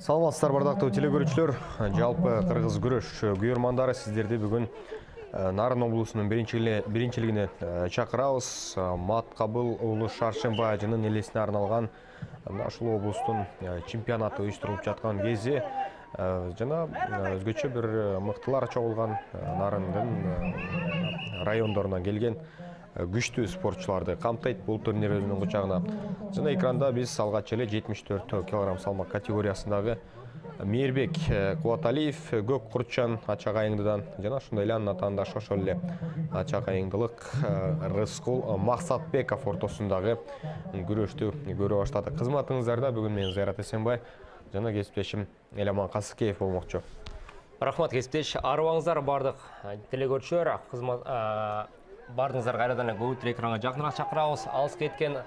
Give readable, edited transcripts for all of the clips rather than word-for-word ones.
Саламатсыздар бардактуу телекөрүүчүлөр. Жалпы кыргыз күрөш күйөрмандары сиздерди бүгүн Нарын облусунун биринчилигине чакырабыз. Маткабыл уулу Шаршембай ажынын элесине арналган ушул облустун чемпионаты уюштурулуп жаткан кези жана өзгөчө бир мыктылар чогулган Нарындын райондорунан келген күчтүү спортчуларды камтыйт бул турнир өзүнүн кучагына. Жана экранда биз алгач эле 74 кг салмак категориясындагы Мээрбек Кубаталиев, Көк Курчан ачак айыңдыдан жана ошондой эле анын атаандашы ошол эле ачак айыңдылык Рыскул Максатбеков ортосундагы күрөштү көрө баштадык. Кызматыңыздарда бүгүн мен Зайрат Эсенбай жана кесиптешим Эламан Касыкеев болмокчу. Рахмат кесиптеш, арыбаңыздар бардык телекөрүүчүлөр. Бардыңыздар кайрадан көбүтүр экранга жакыныраак чакырабыз. Алыс кеткен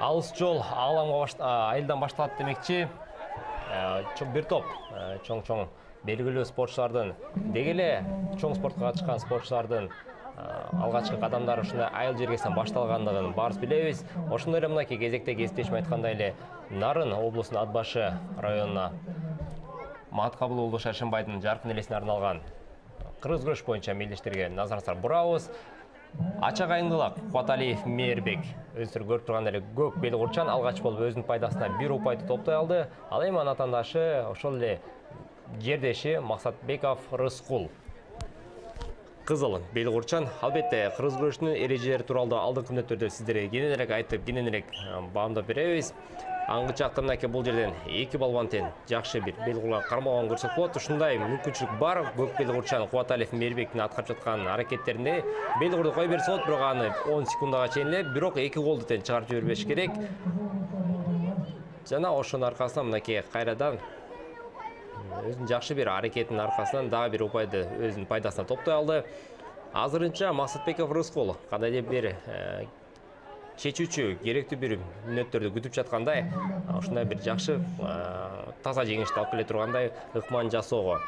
алыс жол айылдан башталат демекчи. Бир топ чоң белгилүү спортчулардын, деги эле чоң спортко катышкан спортчулардын алгачкы кадамдары ушундай айыл жергесинен башталгандыгын баарыбыз билебиз. Ошондой эле мынакей кезекте кесиптешим айткандай эле Нарын облусунун Ат башы районуна Маткабыл уулу Шаршембайдын жаркын элесине арналган кыргыз күрөш боюнча мелдештерге назарыңыздар бурабыз. Ачак айыңдылык Кубаталиев Мээрбек өздөрү көрүп турган эле Көк Бел Курчан алгач болуп өзүнүн пайдасына бир упайды топтой алды. Ал эми анын атаандашы ошол эле жердеши Максатбеков Рыскул. Кызыл Бел Курчан албетте кыргыз күрөшүнүн эрежелери тууралуу алдыңкы мүнөттөрдө сиздерге кененирээк айтып, кененирээк баамдап беребиз. Аңгы жакта мынакей бул жерден эки балбан тең жакшы бир бел курган кармаган көрсөк болот. Ушундай мүмкүнчүлүк бар. Көк Бел Курчан Кубаталиев Мээрбектин аткарып жаткан аракеттеринде бел курду кой берсе болот, бирок аны 10 секундага чейин эле, бирок эки голду тең чыгарып жибербеш керек. Жана ошонун аркасынан мынакей кайрадан өзүнүн жакшы бир аракетинин аркасынан дагы бир упайды өзүнүн пайдасына топтой алды. Азырынча Максатбеков Рыскул кандайдыр бир чечүүчү керектүү бир мүнөттөрдү күтүп жаткандай, ушундай бир жакшы таза жеңишти алып келе тургандай ыкман жасоого.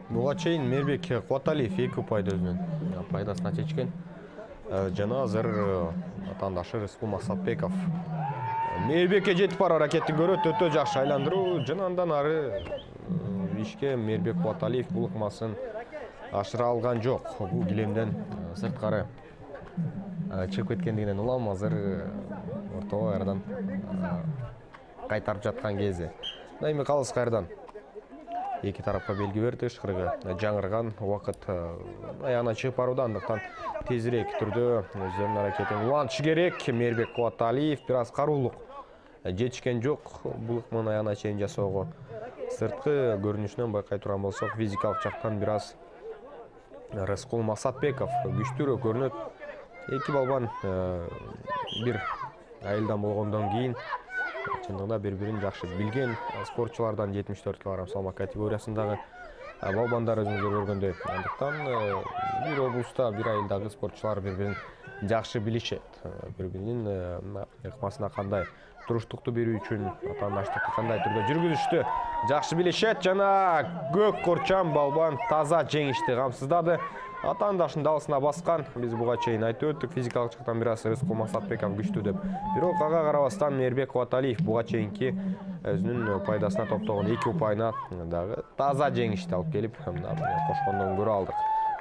Буга чейин Мээрбек Кубаталиев эки упайды өзүнүн пайдасына чечкен. Жана азыр атаандашы Рыскул Максатбеков Мээрбекке жетип барып аракетин көрөт, өтө жакшы айландыруу. Жана андан ары ишке Мээрбек Кубаталиев бул ыкмасын ашыра алган жок. Бул килемден сырткары чыгып кеткендигинен улам азыр ортого кайрадан кайтарып жаткан кези. Эми калыс кайрадан эки тарапка белги берди, ышкырыгы жаңырган убакыт аягына чыгып барууда, андыктан тезирээк түрдө өздөрүнүн аракетин улантышы керек. Мээрбек Кубаталиев бир аз каруулук жетишкен жок бул ыкманы аягына чейин жасоого. Сырткы көрүнүшүнөн байкай турган болсок, физикалык жактан бир аз Рыскул Максатбеков күчтүүрөөк көрүнөт. Эки балбан бир айылдан болгондон кийин чындыгында бири-бирин жакшы билген спортчулардан 74 кг салмак категориясындагы балбандар өзүңүздөр көргөндөй. Андыктан бир облуста, бир айылдагы спортчулар бири-бирин жакшы билишет. Бири-биринин ыкмасына кандай туруштукту берүү үчүн, атаандаштыкты кандай түрдө жүргүзүштү жакшы билишет. Жана Көк Курчан балбан таза жеңишти камсыздады. Атаандашынын далысына баскан. Биз буга чейин айтып өттүк, физикалык жактан бир аз Рыскул Максатбеков күчтүү деп. Бирок ага карабастан Мээрбек Кубаталиев буга чейинки өзүнүн пайдасына топтогон эки упайына дагы таза жеңишти алып келип кошкондон көрө алдык.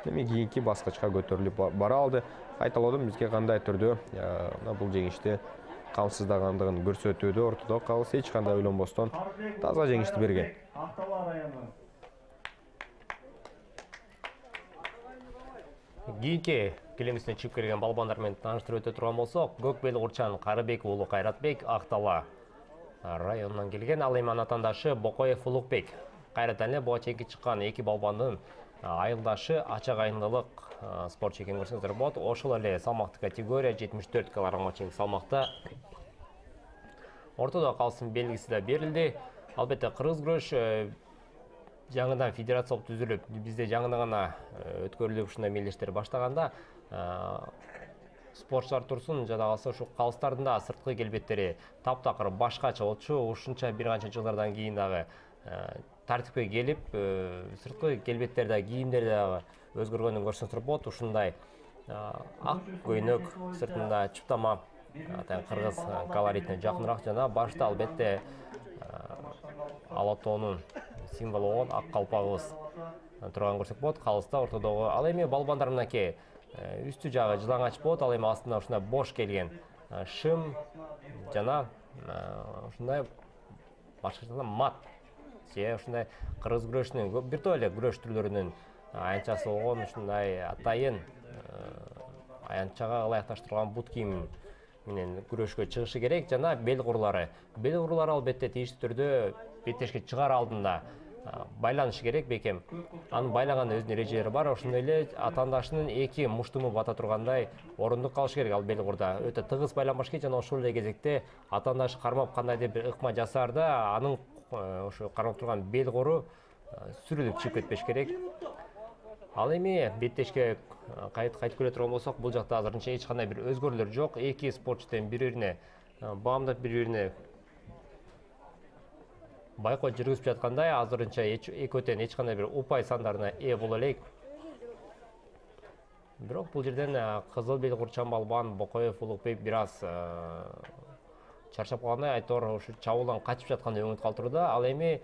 Эми кийинки баскычка көтөрүлүп бара алды. Кайталоодон бизге кандай түрдө бул жеңишти камсыздагандыгын көрсөтүүдө ортодо калыс, эч кандай ойлонбостон таза жеңишти берген. Кийинки килемисине чыгып келген балбандар менен тааныштырып өтө турган болсок, Көк Бел Курчан Карыбек уулу Кайратбек Актала районунан келген. Ал эми анын атаандашы Бокоев Улукбек. Кайрадан эле буга чейинки чыккан эки балбандын айылдашы ачак айыңдылык спортчу экенин көрсөңүздөр болот. Ошол эле салмактык категория 74 кг чейинки салмакта ортодо калсын белгиси да берилди. Албетте кыргыз күрөш жаңыдан федерация болуп түзүлүп, бизде жаңыдан гана өткөрүлүп ушундай мелдештер баштаганда спортчулар турсун, жада калса ушу калыстардын да сырткы келбеттери таптакыр башкача болчу. Ушунча бир канча жылдардан кийин дагы тартипке келип, сырткы келбеттер да, кийимдер дагы өзгөргөнүн көрсөңүздөр болот. Ушундай ак көйнөк, сыртында чуптама кыргыз колоритине жакыныраак жана башта албетте Алатоонун символу болгон ак калпагыбыз турган көрсөк болот. Калыста ортодогу. Ал эми балбандар мынакей үстү жагы жылаңач болот. Ал эми астында ушундай бош келген шым жана ушундай башкача мат же ушундай кыргыз күрөшүнүн бир топ эле күрөш түрлөрүнүн аянтчасы болгон ушундай атайын аянтчага ылайыкташтырылган бут кийим менен күрөшкө чыгышы керек. Жана бел курлары. Бел курлары албетте тийиштүү түрдө беттешке чыгаар алдында байланышы керек бекем. Анын байлаган өзүнүн эрежелери бар. Ошондой эле атаандашынын эки муштуму бата тургандай орундук калыш керек ал бел курда. Өтө тыгыз байланбаш керек жана ошол эле кезекте атаандашы кармап кандайдыр бир ыкма жасаарда анын ошо кармап турган бел куру сүрүлүп чыгып кетпеш керек. Ал эми беттешке кайтып келе турган болсок, бул жакта азырынча эч кандай бир өзгөрүүлөр жок. Эки спортчу тең бири-бирине баамдап бири-бирине байкоо жүргүзүп жаткандай, азырынча экөө тең эч кандай бир упай сандарына ээ боло элек. Бирок бул жерден кызыл бел курчан балбан Бокоев Улукбек бир аз чарчап калгандай, айтор ушу чабуулдан качып жаткандай өңүт калтырууда. Ал эми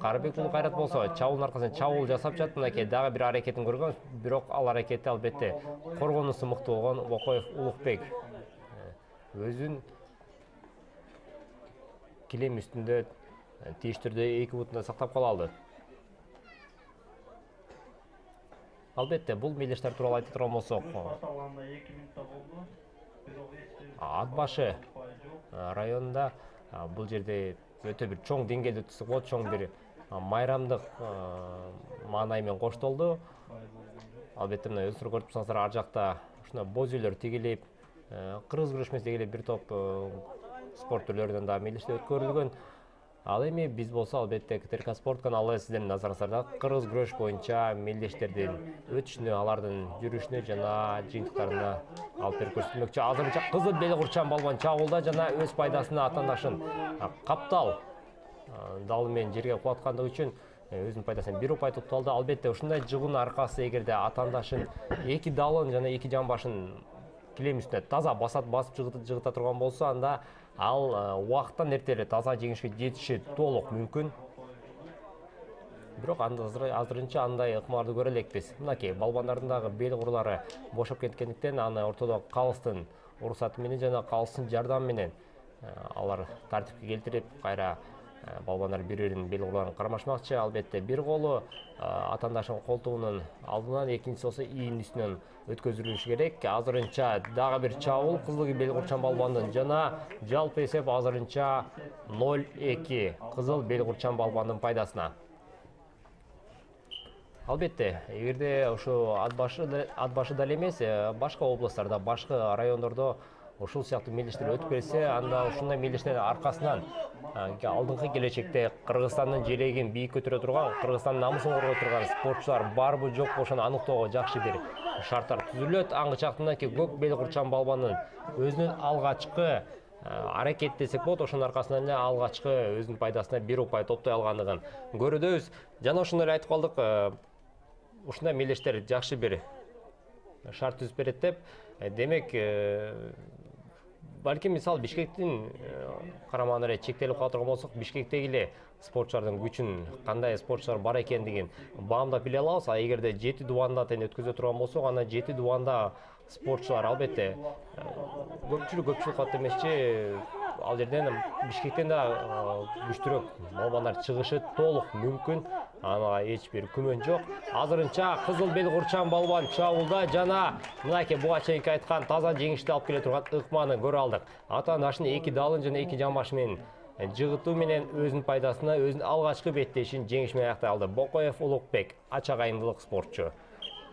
Карыбек уулу Кайрат болсо чабуулдун аркасынан чабуул жасап жатат. Мынакей дагы бир аракетин көргөн. Бирок ал аракетти албетте коргонуусу мыкты болгон Бокоев Улукбек өзүн килем үстүндө тийиштүү түрдө эки бутунда сактап кала алды. Албетте бул мелдештер тууралуу айта турган болсок, Ат башы районунда бул жерде өтө бир чоң деңгээлде өткөзсөк болот, чоң бир майрамдык маанай менен коштолду. Албетте мына өзүңөр көрүп турсаңыздар, ар жакта ушундай боз үйлөр тигилип, кыргыз күрөшмөсү дегеле бир топ спорт түрлөрүнөн да мелдештер өткөрүлгөн. Ал эми биз болсо албетте КТРК Спорт каналы сиздердин назарыңыздарда кыргыз күрөш боюнча мелдештердин өтүшүнө, алардын жүрүшүнө жана жыйынтыктарына алып берип көрсөтмөкчү. Азырынча кызыл бел курчан балбан чабуулда жана өз пайдасына атаандашын каптал далы менен жерге кулаткандыгы үчүн өзүнүн пайдасына бир упай тутталды. Албетте ушундай жыгуунун аркасы эгерде атаандашын эки далын жана эки жамбашын килем үстүнө таза басып жыгыта турган болсо, анда ал убакыттан эрте эле таза жеңишке жетиши толук мүмкүн. Бирок азырынча андай ыкмаларды көрө элекпиз. Мынакей балбандардын дагы бел курлары бошоп кеткендиктен аны ортодо калыстын уруксаты менен жана калыстын жардамы менен алар тартипке келтирип, кайра балбандар бири-биринин бел курларын кармашмакчы. Албетте бир колу атаандашынын колтугунун алдынан, экинчиси болсо ийинин үстүнөн өткөзүлүшү керек. Азырынча дагы бир чабуул кызыл бел курчан балбандын жана жалпы эсеп азырынча 0-2 кызыл бел курчан балбандын пайдасына. Албетте, эгерде ушу ат башы деле эмес, башка областтарда, башка райондордо ушул сыяктуу мелдештер өтүп келсе, анда ушундай мелдештердин аркасынан алдыңкы келечекте Кыргызстандын желегин бийик көтөрө турган, Кыргызстандын намысын коргой турган спортчулар барбы жокпу ошону аныктоого жакшы бир шарттар түзүлөт. Аңгычактымдаки көк бел курчан балбанын өзүнүн алгачкы аракет десек болот, ошонун аркасынан эле алгачкы өзүнүн пайдасына бир упай топтой алгандыгын көрөбүз. Жана ошондой эле айтып калдык, ушундай мелдештер жакшы бир шарт түзүп берет деп. Демек, балким мисалы Бишкектин карамагында эле чектелип кала турган болсок, Бишкектеги эле спортчулардын күчүн, кандай спортчулар бар экендигин баамдап биле алабыз. А эгерде 7 дубанда тең өткөзө турган болсок, анда 7 дубанда спортчулар албетте көпчүлүк кат эмесчи, ал жерден Бишкектен да күчтүүрөөк балбандар чыгышы толук мүмкүн. Ага эч бир күмөн жок. Азырынча кызыл бел курчан балбан чабуулда жана мынакей буга чейинки айткан таза жеңишти алып келе турган ыкманы көрө алдык. Атаандашын эки далын жана эки жамбашы менен жыгытуу менен өзүнүн пайдасына өзүнүн алгачкы беттешин жеңиш менен аяктай алды. Бокоев Улукбек ача кайындылык спортчу.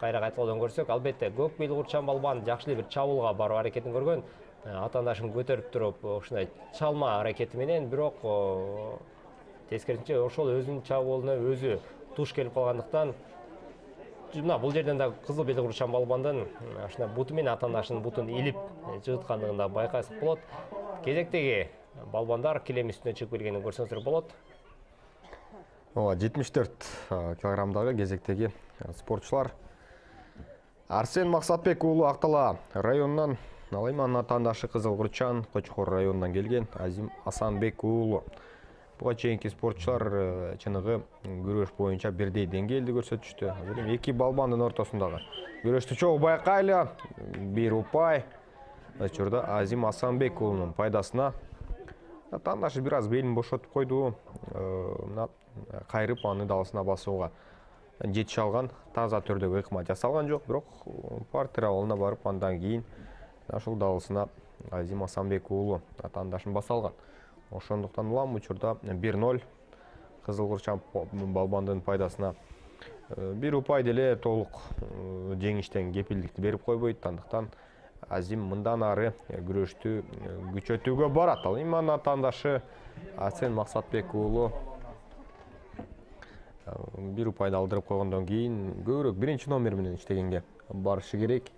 Кайра кайтадан көрсөк, албетте көк бел курчан балбан жакшы бир чабуулга баруу аракетин көргөн. Атаандашын көтөрүп туруп ушундай чалма аракети менен, бирок тескерисинче ошол өзүнүн чабуулуна өзү туш келип калгандыктан мына бул жерден да кызыл бел курчан балбандын ушундай буту менен атаандашынын бутун илип жыгыткандыгын да байкасак болот. Кезектеги балбандар килем үстүнө чыгып келгенин көрсөңүздөр болот. 74 килограммдагы кезектеги спортчулар Арсен Максатбек уулу Актала районунан, ал эми анын атаандашы кызыл курчан Кочкор районунан келген Азим Асанбек уулу Буга чейинки спортчулар чыныгы күрөш боюнча бирдей деңгээлди көрсөтүштү. Азыр эми эки балбандын ортосундагы күрөштү чогуу байкайлы. Бир упай. Учурда Азим Асанбек уулунун пайдасына. Атандашы бир аз белин бошотуп койду. Мына кайрып аны далысына басууга жетише алган. Таза түрдөгү ыкма жасалган жок, бирок партер абалына барып андан кийин ошол далысына Азим Асанбек уулу атандашын баса алган. Ошондуктан улам учурда 1-0 Кызыл Курчам балбандын пайдасына. Бир упай деле толук жеңиштен кепилдикти берип койбойт. Андыктан Азим мындан ары күрөштү күчөтүүгө барат. Ал эми атандашы Асен Максатбек уулу бир упайды алдырып койгондон кийин көбүрөөк биринчи номер менен иштегенге барышы керек.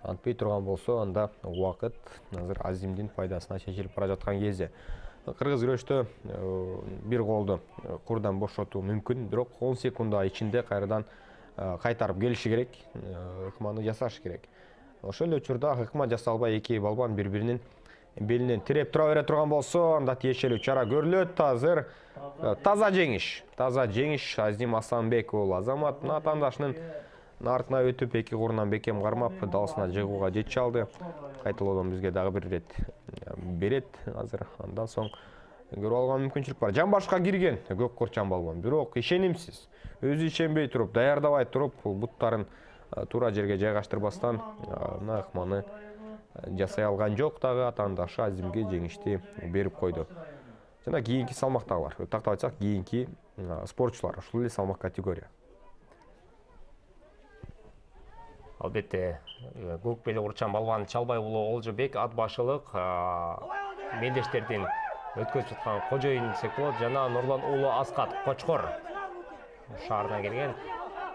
Антпей турган болсо, анда убакыт азыр Азимдин пайдасына чечилип бара жаткан кезде. Кыргыз күрөштө бир голду курдан бошотуу мүмкүн, бирок 10 секунда ичинде кайрадан кайтарып келиши керек, ыкманы жасашы керек. Ошол эле учурда ыкма жасалбай эки балбан бири-биринин белинен тиреп тура бере турган болсо, анда тиешелүү чара көрүлөт. Азыр таза жеңиш Азим Асанбек уулу Азамат атандашынын артына өтүп эки курунан бекем кармап далысына жыгууга жетише алды. Кайталоодон бизге дагы бир ирет берет. Азыр андан соң көрүп алган мүмкүнчүлүк бар. Жамбашка кирген Көк Курчам балбан, бирок ишенимсиз. Өзү ишенбей туруп, даярдабай туруп, буттарын туура жерге жайгаштырбастан мына ыкманы жасай алган жок. Дагы атандашы Азимге жеңишти берип койду. Жана кийинки салмактагылар, тактап айтсак, кийинки спортчулар ушул эле салмак категория. Албетте, Көк Бели Курчам балбан Чалбай уулу Олжобек ат башылык мелдештердин өткөзүп жаткан кожоюн десек болот. Жана Нурлан уулу Аскат Кочкор шаарынан келген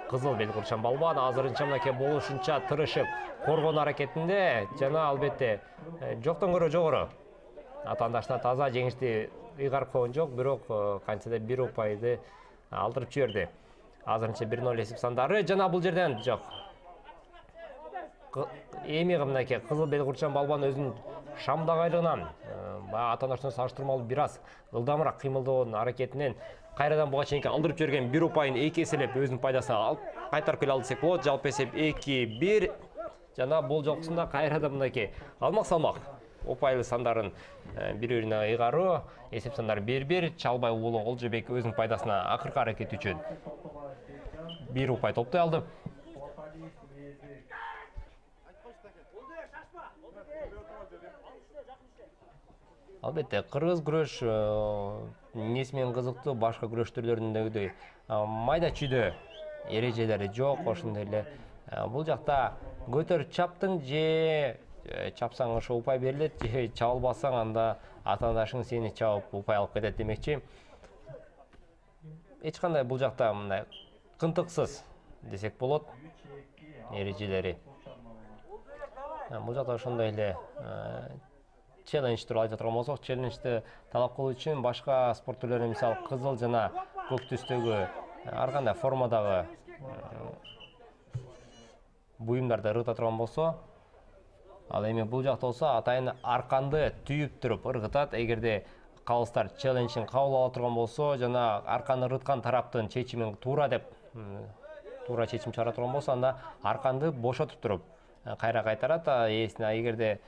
Кызыл Бели Курчам балбан азырынча мынакей болушунча тырышып коргонуу аракетинде. Жана албетте жоктон көрө жогору атандашына таза жеңишти ыйгарып койгон жок, бирок кантсе бир упайды алдырып жиберди. Азырынча 1-0 эсеп сандары. Жана бул жерден жок. Эми мынакей Кызыл Бели Курчам балбан өзүнүн шамдагайлыгынан атандашына салыштырмалуу бир аз ылдамыраак кыймылдоонун аракетинен кайрадан буга чейинки алдырып жиберген бир упайын эки эселеп өзүнүн пайдасына алып кайтарып келе алды десек болот. Жалпы эсеп 2-1. Жана бул жолкусунда кайрадан мынакей алмак салмак упайлы сандарын бири-бирине ыйгаруу. Эсеп сандары 1-1. Чалбай уулу Олжобек өзүнүн пайдасына акыркы аракети үчүн бир упай топтой алды. Албетте, кыргыз күрөш эмнеси менен кызыктуу, башка күрөш түрлөрүндөгүдөй майда чүйдө эрежелери жок. Ошондой эле бул жакта көтөр чаптың же чапсаң ошо упай берилет, же чаба албасаң анда атандашың сени чабып упай алып кетет демекчи. Эч кандай бул жакта мындай кынтыксыз десек болот эрежелери. Бул жакта ошондой эле челлендж тууралуу айта турган болсок, челленджди талап кылуу үчүн башка спорт түрлөрү, мисалы кызыл жана көк түстөгү ар кандай формадагы буюмдарды ыргыта турган болсо, ал эми бул жакта болсо атайын арканды түйүп туруп ыргытат. Эгерде калыстар челленджин кабыл ала турган болсо жана арканы ыргыткан тараптын чечимин туура деп туура чечим чыгара турган болсо, анда арканды бошотуп туруп кайра кайтарат. Ээсине эгерде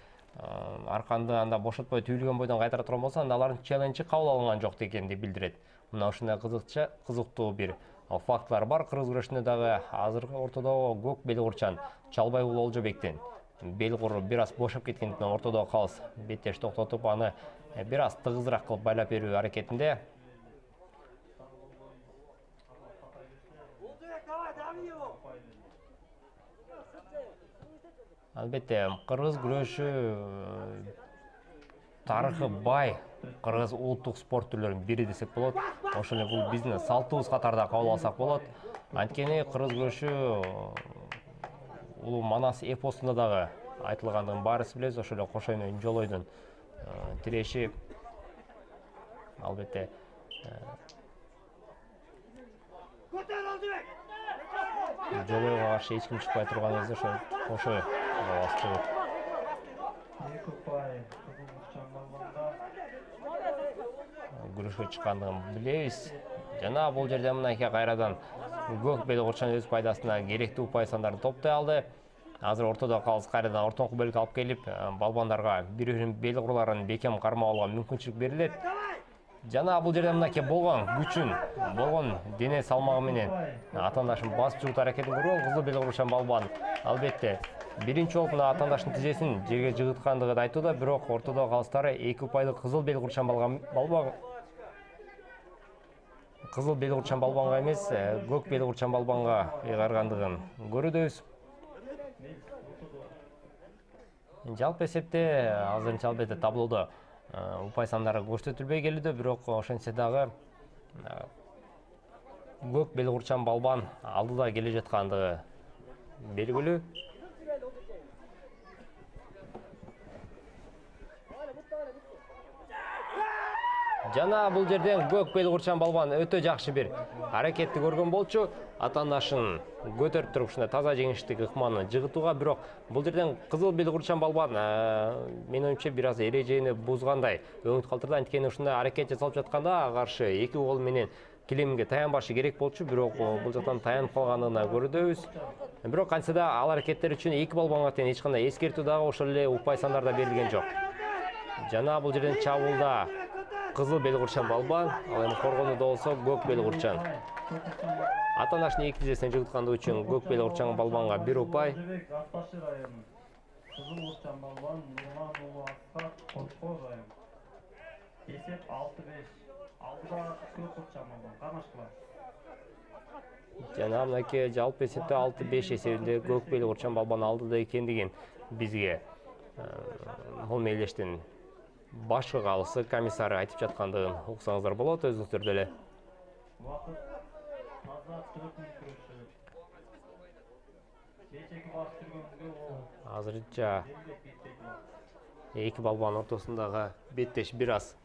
арканды анда бошотпой түйүлгөн бойдон кайтара турган болсо, анда алардын челленджи кабыл алынган жок экенин билдирет. Мына ушундай кызыктуу бир фактылар бар кыргыз күрөшүндө дагы. Азыркы ортодогу Көк Бели Курчам Чалбай уулу Олжобектин бел куру бир аз бошоп кеткендиктен ортодогу калыс беттеш токтотуп, аны бир аз тыгызыраак кылып байлап берүү аракетинде. Албетте, кыргыз күрөшү тарыхы бай кыргыз улуттук спорт түрлөрүнүн бири десек болот. Ошол эле бул биздин салтыбыз катарында кабыл алсак болот. Анткени кыргыз күрөшү улуу Манас эпосунда дагы айтылгандыгын баарыбыз билебиз. Ошол эле Кошойнун Жолойдун тиреши албетте Жолойго каршы эч ким чыкпай турган кезде ошо Кошой күрөшкө чыккандыгын билебиз. Жана бул жерде мынакей кайрадан көк белгурчан өз пайдасына керектүү упай сандарын топтой алды. Азыр ортодо калыс кайрадан ортоңку бөлүккө алып келип, балбандарга бир-бирин бел курларын бекем кармап алууга мүмкүнчүлүк берилет. Жана бул жерде мынакей болгон күчүн, болгон дене салмагы менен атаандашын басып чыгуу аракетин көргөн кызыл белгурчан балбан. Албетте, биринчи болуп мына атаандашынын тизесин жерге жыгыткандыгы айтууда, бирок ортодо калыстары 2 упайлык кызыл белгурчан балбанга эмес, көк белгурчан балбанга ыйгаргандыгын көрөбүз. Жалпы эсепте азырынча албетте таблодо упай сандары көрсөтүлбөй келүүдө, бирок ошентсе дагы көк белгурчан балбан алдыда келе жаткандыгы белгилүү. Жана бул жерден көк белгурчан балбан өтө жакшы бир аракетти көргөн болчу. Атаандашын көтөрүп туруп ушундай таза жеңиштик ыкманы жыгытууга, бирок бул жерден кызыл белгурчан балбан менин оюмча бир аз эрежени бузгандай өңүт калтырды. Анткени ушундай аракет жасалып жатканда каршы 2 кол менен килемге таянбашы керек болчу, бирок бул жактан таянып калганына көрөбүз. Бирок кантсе да ал аракеттер үчүн 2 балбанга тең эч кандай эскертүү дагы ошол эле упай сандарда берилген жок. Жана бул жерден чабуулда кызыл белгурчан балбан, ал эми коргонууда болсо көк белгурчан. Атаандашын 2 тизесине жыгыткандыгы үчүн көк белгурчан балбанга 1 упай. Кызыл белгурчан балбан Нурлан уулу Аскар Кочкор район. Эсеп 6-5. Алдыда көк белгурчан балбан кармашкылар. Жана мынакей жалпы эсепте 6-5 эсебинде көк белгурчан балбан алдыда экендигин бизге бул мээлештин башкы калысы комиссары айтып жаткандыгын уксаңыздар болот өзүңүздөр деле. Вакыт азат 4 мүнөт көрүшү. Кечеки баш жүргөнгө ол. Азырынча 2 балбан ортосундагы беттеш бир аз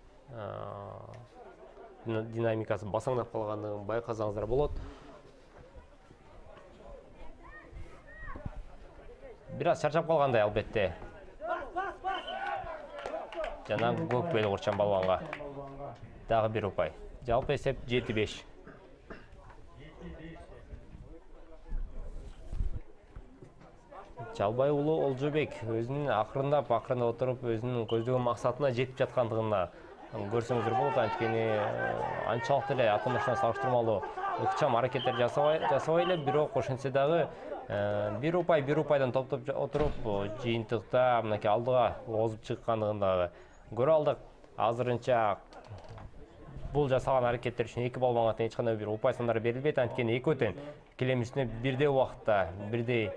динамикасы басаңдап калгандыгын байкасаңыздар болот. Бир аз чарчап калгандай албетте. Жана көк белгурчан балбанга дагы 1 упай. Жалпы эсеп 7-5. Чалбай уулу Олжобек өзүнүн акырындап отуруп өзүнүн көздөгөн максатына жетип жаткандыгына көрсөңүздөр болот. Анткени анчалык эле атаандашына салыштырмалуу ыкчам аракеттер жасабай эле, бирок ошентсе дагы 1 упайдан топтоп отуруп жыйынтыкта мынакей алдыга озуп чыккандыгын дагы көрө алдык. Азырынча бул жасаган аракеттер үчүн 2 балбанга тең эч кандай бир упай сандары берилбейт. Анткени экөө тең килем үстүнө бирдей убакытта бирдей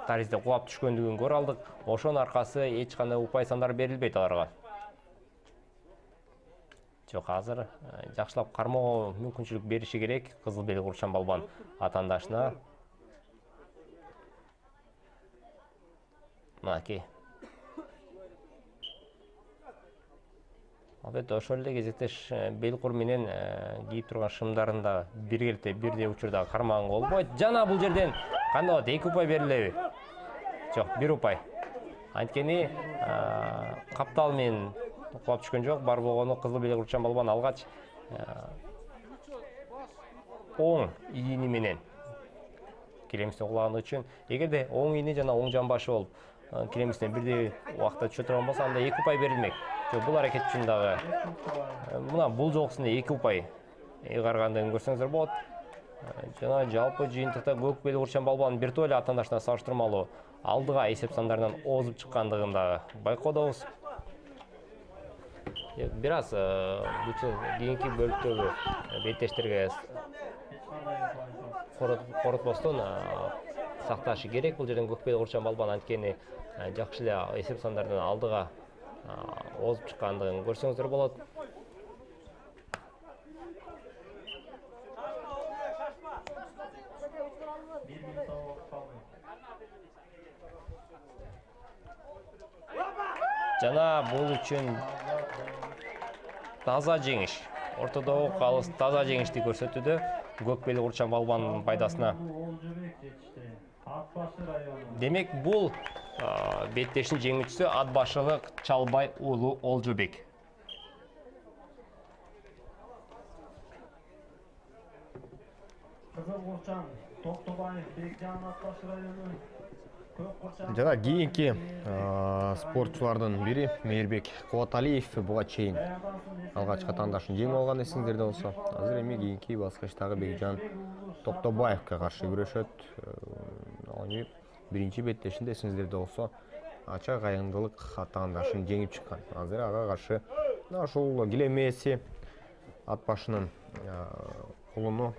таризде кулап түшкөндүгүн көрө алдык. Ошонун аркасы эч кандай упай сандар берилбейт аларга. Жок, азыр жакшылап кармоого мүмкүнчүлүк бериши керек кызыл белгурчан балбан атаандашына. Мынакей. Албетте ошол эле кезектеш белкур менен кийип турган шымдарын да биргеликте бирдей учурда кармаганга болбойт. Жана бул жерден кандай болот? 2 упай берилеби? Жок, 1 упай. Анткени каптал менен кулап түшкөн жок. Бар болгону кызыл белгурчан балбан алгач оң ийини менен килем үстүнө кулагандыгы үчүн, эгерде оң ийини жана оң жамбашы болуп килем үстүнө бирдей убакытта түшө турган болсо, анда 2 упай берилмек. Жок, бул аракет үчүн дагы мына бул жолкусунда 2 упай ыйгаргандыгын көрсөңүздөр болот. Жана жалпы жыйынтыкта көк белгурчан балбан бир топ эле атаандашына салыштырмалуу алдыга эсеп сандарынан озуп чыккандыгын дагы байкоодобуз. Бир аз кийинки бөлүктөгү беттештерге коротпостон сакташы керек. Бул жерден көк белгурчан балбан анткени жакшы эле эсеп сандарынан алдыга озуп чыккандыгын көрсөңүздөр болот. Жана бул үчүн таза жеңиш, ортодогу калыс таза жеңишти көрсөтүүдө көк белгурчан балбанын пайдасына. Демек бул беттештин жеңүүчүсү ат башылык Чалбай уулу Олжобек. Кызыл Курчан, Токтобаев, Бекжан Ат Баш району. Көк Курчан. Жана кийинки спортчулардын бири Мейирбек Кубаталиев буга чейин алгачкы тандашын жеңип алган эсиңдерде болсо. Азыр эми кийинки баскычтагы Бекжан Токтобаевке каршы күрөшөт. Аны биринчи беттешинде эсиңдерде болсо ача кайындылык тандашын жеңип чыккан. Азыр ага каршы ушул килемеси ат башынын кулуну.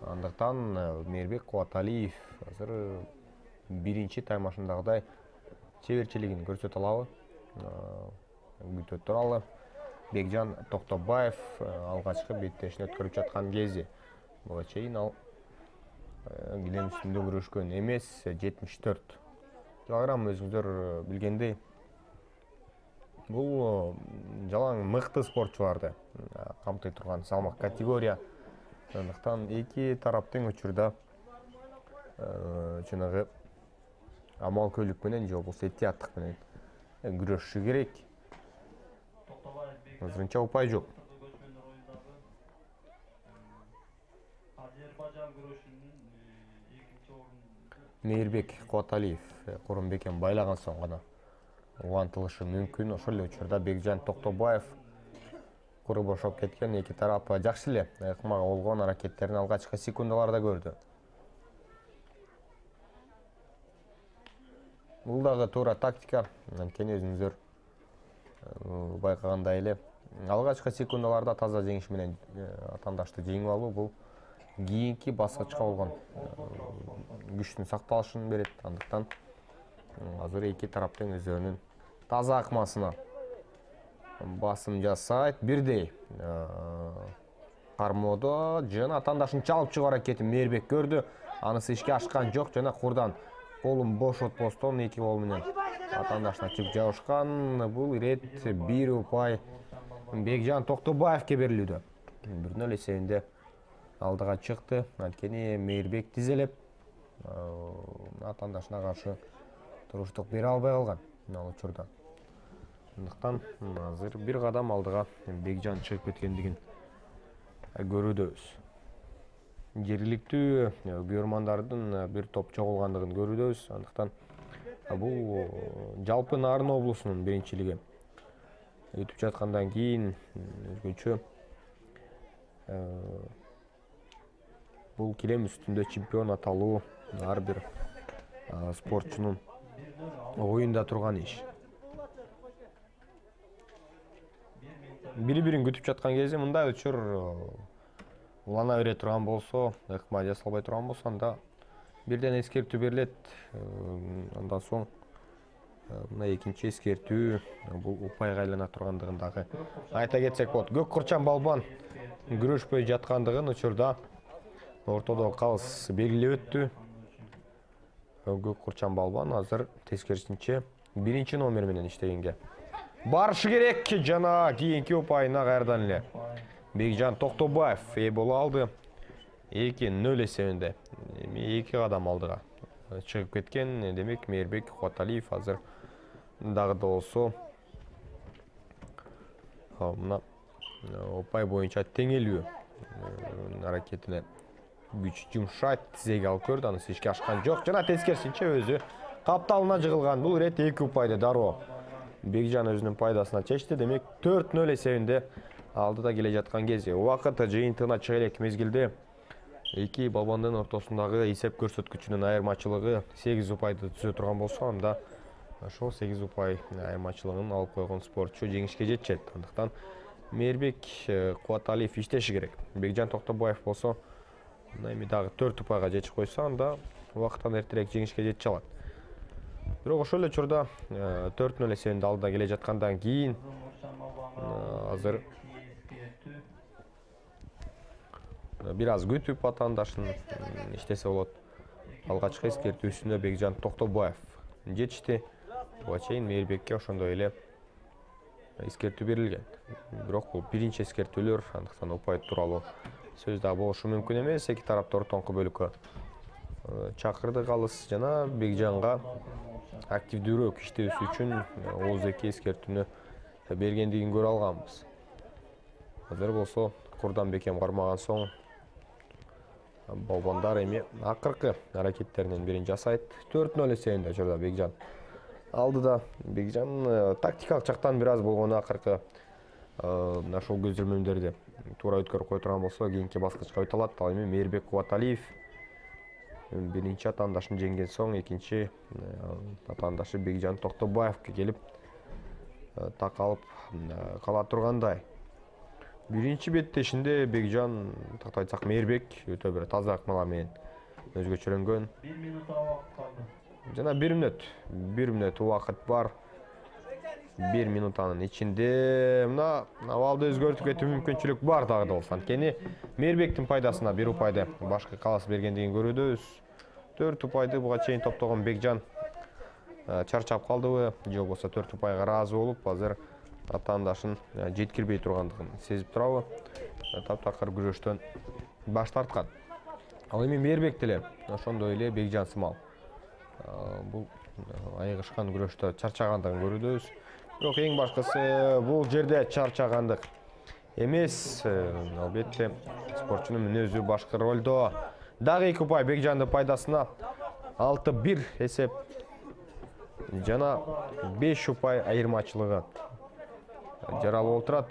Андыктан Мейирбек Кубаталиев азыр биринчи таймашындагыдай чеберчилигин көрсөтө алабы? Күтө туралы. Бекжан Токтобаев алгачкы беттешин өткөрүп жаткан кезде буга чейин ал килем үстүндө күрөшкөн эмес. 74 килограмм өзүңүздөр билгендей бул жалаң мыкты спортчуларды камтый турган салмак категория. Андыктан эки тараптын учурда жанагы амал көйлүк менен же болбосо этияттык менен күрөшүшү керек. Азырынча упай жок. Мейирбек Кубаталиев курун бекен байлаган соң гана улантылышы мүмкүн. Ошол эле учурда Бекжан Токтобаев куру бошоп кеткен, эки тарап жакшы эле ыкмага болгон аракеттерин алгачкы секундаларда көрдү. Бул дагы туура тактика. Анткени өзүңүздөр байкагандай эле алгачкы секундаларда таза жеңиш менен атандашты жеңип алуу бул кийинки баскычка болгон күчтүн сакталышын берет. Андыктан азыр эки тараптын өздөрүнүн таза акмасына басым жасайт. Бирдей кармоодо жана атандашын чалып чыгуу аракетин Мейирбек көрдү. Анысы ишке ашкан жок. Жана курдан колун бош отпостон эки кол менен атандашына чыгып жабышкан. Бул ирет бир упай Бекжан Токтобаевке берилүүдө. 1-0 эсебинде алдыга чыкты. Анткени Мейирбек тизелеп атандашына каршы туруштук бере албай калган ал учурда. Андыктан азыр бир кадам алдыга Бекжан чыгып кеткендигин көрүүдөбүз. Жергиликтүү көрөрмандардын бир топ чогулгандыгын көрүүдөбүз. Андыктан бул жалпы Нарын облусунун биринчилиги өтүп жаткандан кийин өзгөчө бул килем үстүндө чемпион аталуу ар бир спортчунун оюнда турган иш. Бири-бирин күтүп жаткан кезде мындай учур улана бере турган болсо, ыкма жасалбай турган болсо, анда бирден эскертүү берилет. Андан соң мына экинчи эскертүү бул упайга айлана тургандыгын дагы айта кетсек болот. Көк Курчан балбан күрөшпөй жаткандыгын учурда ортодо калыс белгилеп өттү. Көк Курчан балбан азыр тескерисинче биринчи номер менен иштегенге барышы керек. Жана кийинки упайына кайрадан эле Бекжан Токтобаев ээ боло алды. 2-0 эсебинде эми эки кадам алдыга чыгып кеткен. Демек Мейирбек Кубаталиев азыр дагы да болсо мына упай боюнча теңелүү аракетине күч жумшайт, тизеге алып көрдү. Анысы ишке ашкан жок. Жана тескерисинче өзү капталына жыгылган. Бул ирет эки упайды дароо Бекжан өзүнүн пайдасына чечти. Демек 4-0 эсебинде алдыда келе жаткан кезде убакыт жыйынтыгына чыга элек мезгилде эки балбандын ортосундагы эсеп көрсөткүчүнүн айырмачылыгы 8 упайды түзө турган болсо, анда ошол 8 упай айырмачылыгын алып койгон спортчу жеңишке жетет. Андыктан Мейирбек Кубаталиев иштеши керек. Бекжан Токтобаев болсо эми дагы 4 упайга жетип койсо, анда убакыттан эртерээк жеңишке жетише алат. Бирок ошол эле учурда 4-0 эсебинде алдыда келе жаткандан кийин азыр бир аз күтүп атандашын иштесе болот. Алгачкы эскертүүсүнө Бекжан Токтобаев жетишти. Буга чейин Мейирбекке ошондой эле эскертүү берилген. Бирок бул биринчи эскертүүлөр, андыктан упай тууралуу сөз да болушу мүмкүн эмес. Эки тарапты ортоңку бөлүккө чакырды калыс жана Бекжанга активдүүрөөк иштөөсү үчүн ооздеги эскертүүнү бергендигин көрө алганбыз. Азыр болсо курдан бекем кармаган соң Балбандар эми акыркы аракеттеринен бирин жасайт. 4-0 эсебинде учурда Бекжан алдыда. Бекжан тактикалык жактан бир аз болгону акыркы мына ошол көзөмөлдөрдү туура өткөрүп кое турган болсо кийинки баскычка өтө алат. Ал эми Мээрбек Кубаталиев биринчи атаандашын жеңген соң экинчи атаандашы Бекжан Токтобаевке келип такалып кала тургандай. Биринчи беттешинде Бекжан тактап айтсак Мээрбек өтө бир таза ыкмалар менен өзгөчөлөнгөн. 1 минут убакыт калды. Жана 1 минут убакыт бар. 1 минутанын ичинде мына абалды өзгөртүп кетүү мүмкүнчүлүк бар дагы да болсо. Анткени Мээрбектин пайдасына 1 упайды башкы калас бергендигин көрүүбүз. 4 упайды буга чейин топтогон Бекжан чарчап калдыбы, же болбосо 4 упайга ыраазы болуп, азыр атаандашын жеткирбей тургандыгын сезип турабы. Таптакыр күрөштөн баш тарткан. Ал эми Мээрбек деле ошондой эле Бекжан сымал бул айыгышкан күрөштө чарчагандыгын көрүүбүз. Бирок эң башкысы бул жерде чарчагандык эмес, албетте спортчунун мүнөзү башкы ролдо. Дагы 2 упай Бекжандын пайдасына 6-1 эсеп жана 5 упай айырмачылыгы жаралып отурат.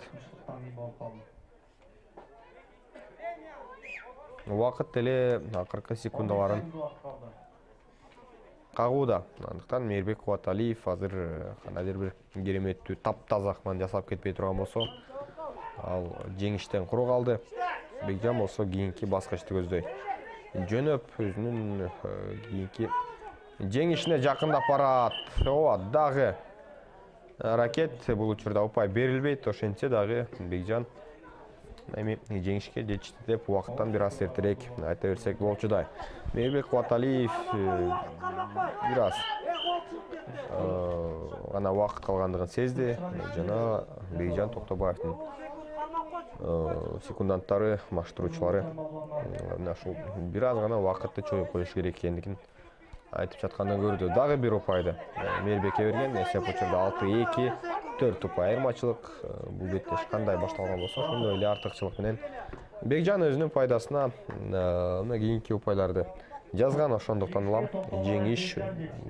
Убакыт деле акыркы секундаларын кагууда. Андыктан Мээрбек Кубаталиев азыр кандайдыр бир кереметтүү таптаза ыкманы жасап кетпей турган болсо, ал жеңиштен куру калды. Бекжан болсо кийинки баскычты көздөй жөнөп өзүнүн кийинки жеңишине жакындап барат. Ооба, дагы ракет бул учурда упай берилбейт. Ошентсе дагы Бекжан эми жеңишке жетишти деп убакыттан бир аз эртерээк айта берсек болчудай. Мээрбек Кубаталиев бир аз гана убакыт калгандыгын сезди жана Бекжан Токтобаевдин секунданттары, маштыруучулары мына ушул бир аз гана убакытты чоюп коюш керек экендигин айтып жаткандан көрдү. Дагы 1 упайды Мээрбекке берген. Эсеп учурда 6-2, 4 упай айырмачылык. Бул беттеш кандай башталган болсо, ошондой эле артыкчылык менен Бекжан өзүнүн пайдасына мына кийинки упайларды жазган. Ошондуктан улам жеңиш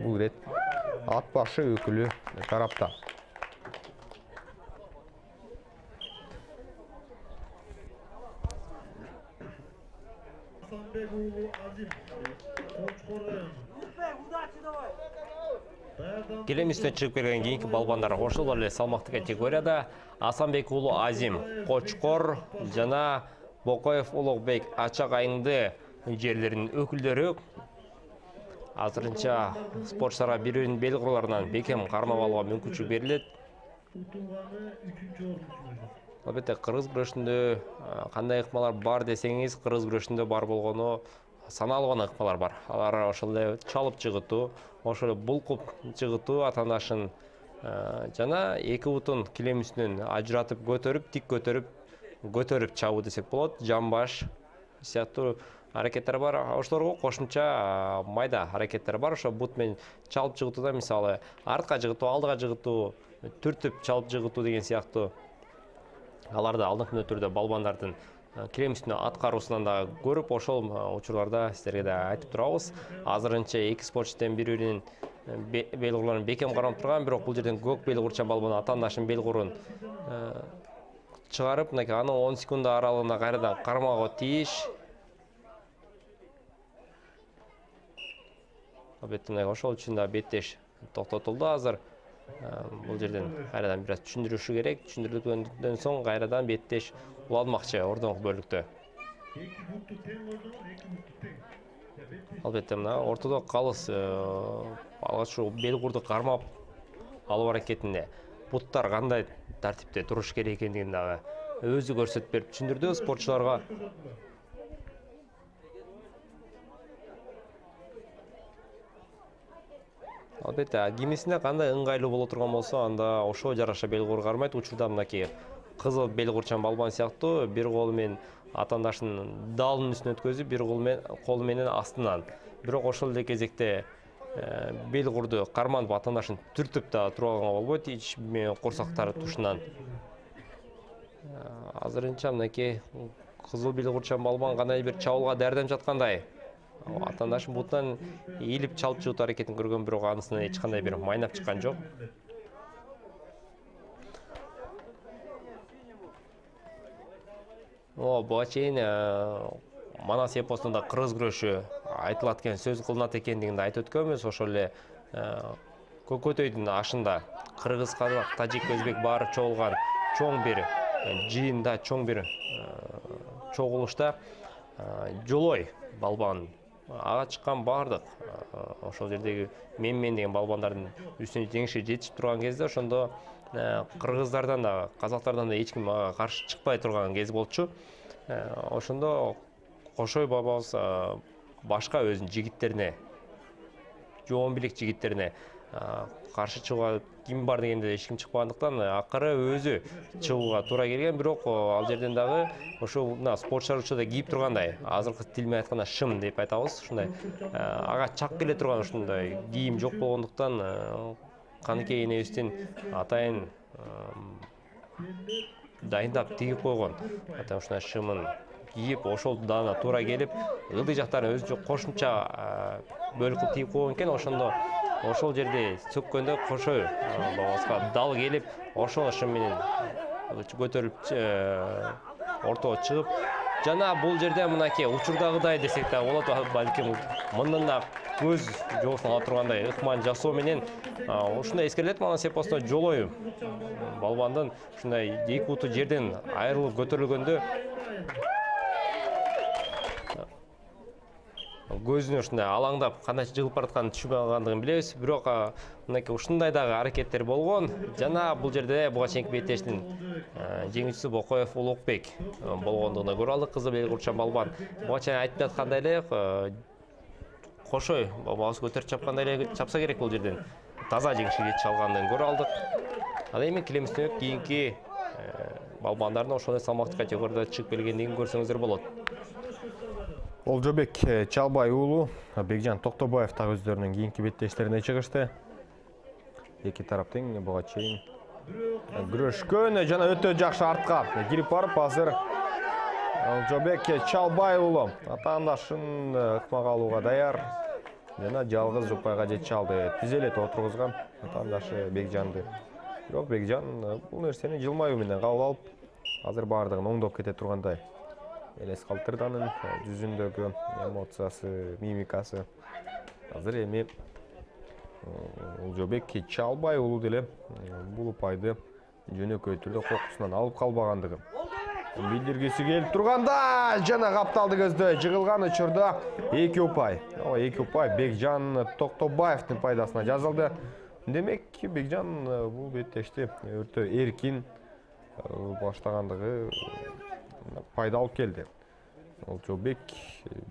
бул ирет ат башы өкүлү тарапта. Келем үстүнө чыгып келген кийинки балбандар ошол эле салмактуу категорияда Асанбек уулу Азим Кочкор жана Бокоев Улукбек Ачак айыңды жерлеринин өкүлдөрү азырынча спортчуларга бири-биринин бел курларынан бекем кармап алууга мүмкүнчүлүк берилет. Албетте кыргыз күрөшүндө кандай ыкмалар бар десеңиз, кыргыз күрөшүндө бар болгону саналган ыкмалар бар. Алар ошол эле чалып жыгытуу, ошол эле булкуп жыгытуу атаандашын жана эки бутун килем үстүнөн ажыратып көтөрүп, тик көтөрүп чабуу десек болот. Жамбаш сыяктуу аракеттер бар. Ошолорго кошумча майда аракеттер бар. Ошо бут менен чалып жыгытууда мисалы артка жыгытуу, алдыга жыгытуу, түртүп чалып жыгытуу деген сыяктуу аларды алдыңкы түрдө балбандардын килем үстүнө аткаруусунан да көрүп, ошол учурларда сиздерге да айтып турабыз. Азырынча эки спортчуден бири-биринин бел курларын бекем кармап турган, бирок бул жерден көк бел курча балбан атаандашын бел курун чыгарып, мынакей анын 10 секунда аралыгында кайрадан кармоого тийиш. Албетте ошол үчүн да беттеш токтотулду азыр. Бул жерден кайрадан бир аз түшүндүрүшү керек. Түшүндүрүлгөндөн соң кайрадан беттеш уланмакчы ордоңку бөлүктө. Албетте мына ортодо калыс алгач бел курду кармап алуу аракетинде буттар кандай тартипте туруш керек экендигин дагы өзү көрсөтүп берип түшүндүрдү спортчуларга. Албетте кимисине кандай ыңгайлуу боло турган болсо, анда ошого жараша бел кур кармайт. Учурда мынакей кызыл бел курчан балбан сыяктуу бир колу менен атаандашынын далынын үстүнө өткөзүп, бир колу менен астынан. Бирок ошол эле кезекте бел курду карманып атаандашын түртүп да турганга болбойт, ич курсактары тушунан. Азырынча мынакей кызыл белгурчан балбан кандай бир чабуулга даярданып жаткандай. Атандашын бутунан ийилип чалып чыгуу аракетин көргөн, бирок анысынан эч кандай бир майнап чыккан жок. Буга чейин Манас эпосунда кыргыз күрөшү айтылат экен, сөз кылынат экендигинди айтып өткөнбүз. Ошол эле Көкөтөйдүн ашында кыргыз, казак, тажик, өзбек баары чогулган чоң бир жыйында, чоң бир чогулушта Жолой балбан ага чыккан бардык ошол жердеги мен деген балбандардын үстүнө жеңишке жетишип турган кезде ошондо кыргыздардан да, казактардан да эч ким ага каршы чыкпай турган кез болчу. Ошондо Кошой бабабыз башка өзүнүн жигиттерине, жоон билик жигиттерине каршы чыгууга ким бар дегенде эч ким чыкпагандыктан акыры өзү чыгууга туура келген. Бирок ал жерден дагы ошо спортчулар учурда кийип тургандай, азыркы тил менен айтканда шым деп айтабыз, ушундай ага чак келе турган ушундай кийим жок болгондуктан Каныкей энебиздин атайын дайындап тигип койгон ушундай шымын кийип, ошол даана туура келип, ылдый жактарын өзүнчө кошумча бөлүк кылып тигип койгон экен. Ошондо ошол жерде сөккөндө Кошой бабабызга дал келип, ошол шым менен көтөрүлүп ортого чыгып, жана бул жерде мынакей учурдагыдай десек да болот, балким мындан да көз жоосун ала тургандай ыкман жасоо менен ушундай эскерилет. Манас эпосунда Жолой балбандын ушундай эки буту жерден айрылып көтөрүлгөндө көзүнө ушундай алаңдап кандайча жыгылып баратканын түшүнбөй калгандыгын билебиз. Бирок мынакей ушундай дагы аракеттер болгон. Жана бул жерде буга чейинки беттештин жеңүүчүсү Бокоев Улукбек болгондугуна көрө алдык. Кызыл белгурчан балбан буга чейин айтып аткандай эле Кошой бабабыз көтөрүп чапкандай эле чапса керек, бул жерден таза жеңишке жетише алгандыгын көрө алдык. Ал эми килемистен кийинки балбандардын ошол салмактуу категорияда чыгып келгендигин көрсөңүздөр болот. Олжобек Чалбай уулу, Бекжан Токтобаев так өздөрүнүн кийинки беттештерине чыгышты. Эки тарап тең буга чейин күрөшкөн жана өтө жакшы артка кирип барып, азыр Олжобек Чалбай уулу атаандашын ыкмага алууга даяр жана жалгыз упайга жетише алды. Тизелет отургузган атаандашы Бекжанды. Бирок Бекжан бул нерсени жылмаюу менен кабыл алып, азыр баардыгын оңдоп кете тургандай. Элес калтырды анын жүзүндөгү эмоциясы, мимикасы. Азыр эми Олжобек Чалбай уулу деле бул упайды жөнөкөй түрдө кокусунан алып калбагандыгын билдиргиси келип турганда, жана капталды көздө жыгылган учурда эки упай. Эки упай Бекжан Токтобаевдин пайдасына жазылды. Демек, Бекжан бул беттешти өтө эркин баштагандыгы пайда алып келди. Олжобек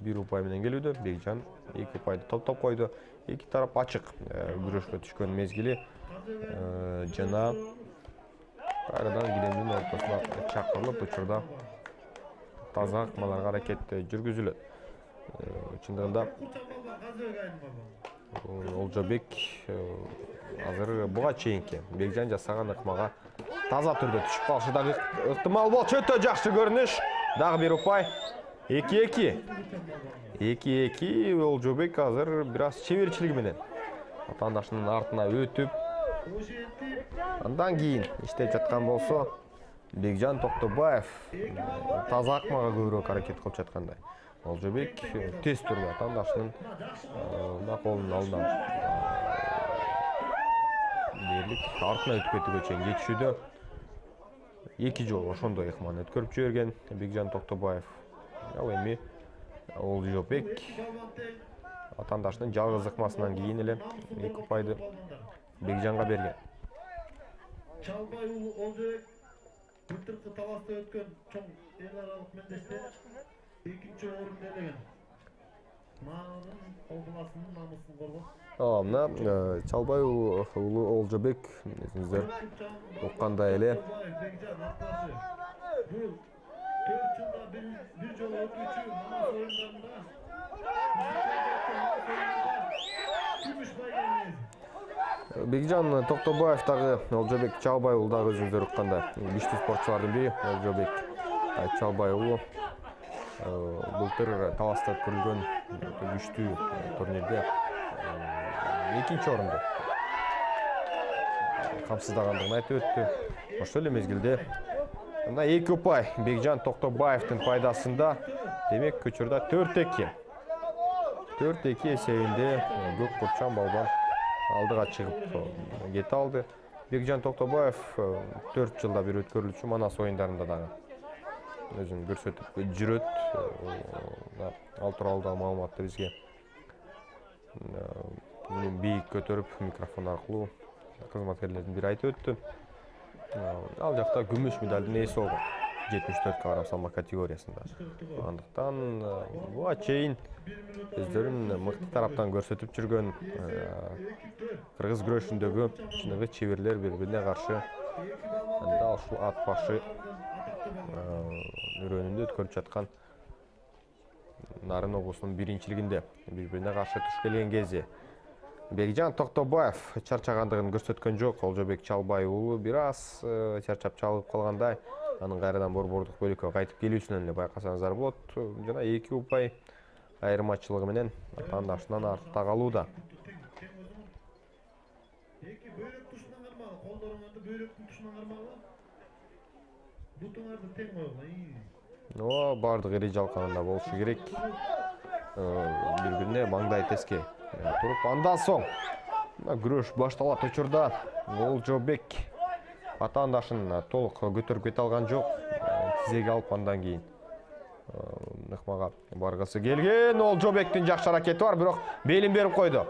бир упай менен келүүдө, Бекжан эки упайды топтоп койду. Эки тарап ачык күрөшкө түшкөн мезгили жана кайрадан килемдин ортосуна чакырылып, учурда таза ыкмаларга аракет жүргүзүлөт. Чындыгында Олжобек азыр буга чейинки Бекжан жасаган ыкмага таза түрдө түшүп калышы дагы ыктымал болчу. Өтө жакшы көрүнүш. Дагы бир упай. 2-2. 2-2. Олжобек азыр бир аз чеберчилиги менен атаандашынын артына өтүп, андан кийин иштеп жаткан болсо, Бекжан Токтобаев таза ыкмага көбүрөөк аракет кылып жаткандай. Олжобек тез түрдө атаандашынын колунун алдынан дээрлик артына өтүп кетүүгө чейин жетишүүдө. Эки жолу ошондой ыкман өткөрүп жиберген Бекжан Токтобаев. Ал эми Олжобек атаандашынын жалгыз ыкмасынан кийин эле эки упайды Бекжанга берген. Чалбай уулу Олжобек былтыркы таласта өткөн чоң эл аралык мендеште экинчи орунду ээлеген. Маанын колдунасынын намысын коргоп. Мына Чалбай уулу Олжобек өзүңүздөр уккандай эле бул 4 жылда бир жолу өтүүчү Манас оюндарында күмүш байгени. Бекжан Токтобаев дагы Олжобек Чалбай уулу дагы өзүңүздөр уккандай күчтүү спортчулардын бири Олжобек Чалбай уулу былтыр Таласта өткөрүлгөн күчтүү турнирде 2-нчи орунду камсыздагандыгын айтып өттү. Ошол эле мезгилде мына 2 упай Бекжан Токтобаевдин пайдасында, демек учурда 4-2. 4-2 эсебинде көк курчан балбан алдыга чыгып кете алды. Бекжан Токтобаев 4 жылда бир өткөрүлчү Манас оюндарында дагы өзүн көрсөтүп жүрөт. Ал тууралуу да маалыматты бизге бийик көтөрүп микрофон аркылуу кызматкерлердин бири айтып өттү. Ал жакта күмүш медалдын ээси болгон 74 кг салмак категориясында. Андыктан буга чейин өздөрүн мыкты тараптан көрсөтүп жүргөн кыргыз күрөшүндөгү чыныгы чеберлер бири-бирине каршы дал ушул ат башы өрөөнүндө өткөрүп жаткан Нарын облусунун биринчилигинде бири-бирине каршы туш келген кезде Бекжан Токтобаев чарчагандыгын көрсөткөн жок. Олжобек Чалбай уулу бир аз чарчап чалып калгандай. Анын кайрадан борбордук бөлүккө кайтып келүүсүнөн эле байкасаңыздар болот. Жана 2 упай айырмачылыгы менен атаандашынан артта калууда. Эки бөйрөк тушунан кармагы, колдоруңарды бөйрөктүн тушунан кармагы. Бутуңарды тең койгула. Бардык ири жалканында болушу керек. Бири-бирине маңдай теске туруп, андан соң күрөш башталат учурда Олжобек атаандашын толук көтөрүп кете алган жок. Тизеге алып андан кийин ыкмага баргысы келген. Олжобектин жакшы аракети бар, бирок белин берип койду.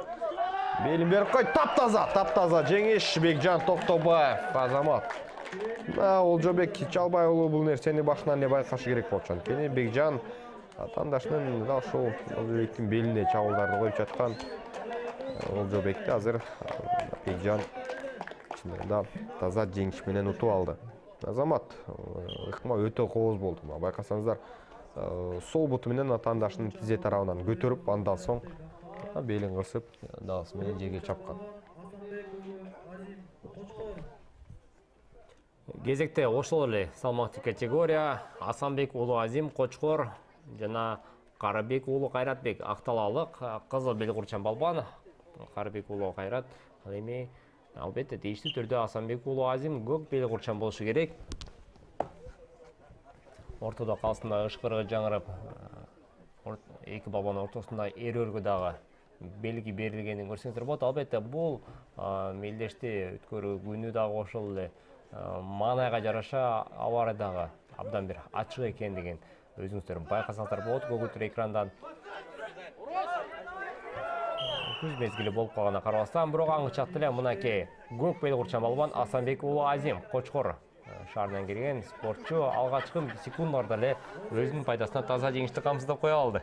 Таптаза жеңиш Бекжан Токтобаев. Азамат. Олжобек Чалбай уулу бул нерсени башынан эле байкашы керек болчу. Анткени Бекжан атаандашынын дал ушул Олжобектин белине чабуулдарды коюп жаткан. Олжобекти азыр Бекжан чынында таза жеңиш менен утуп алды. Азамат ыкма өтө кооз болду. Байкасаңыздар, сол буту менен атаандашынын тизе тарабынан көтөрүп, андан соң белин кысып, даасы менен жерге чапкан. Кезекте ошол эле салмактуу категория Асанбек уулу Азим Кочкор жана Карабек уулу Кайратбек Акталалык кызыл бел курчан балбан. Карабек уулу Кайрат ал эми албетте тийиштүү түрдө Асанбек уулу Азим көк бел курчан болушу керек. Ортодо калсында ышкырыгы жаңырап, эки балбанын ортосунда эрөөлгө дагы белги берилгенин көрсөңүздөр болот. Албетте бул мелдешти өткөрүү күнү дагы ошол эле маанайга жараша аба ырайы дагы абдан бир ачык экендигин өзүңүздөр байкасаңыздар болот. Көгүтүр экрандан күз мезгили болуп калганына карабастан, бирок аңчат эле мынакей көк бел курчан балбан Асанбек уулу Азим Кочкор шаарынан келген спортчу алгачкы секундаларда эле өзүнүн пайдасына таза жеңишти камсыздап кое алды.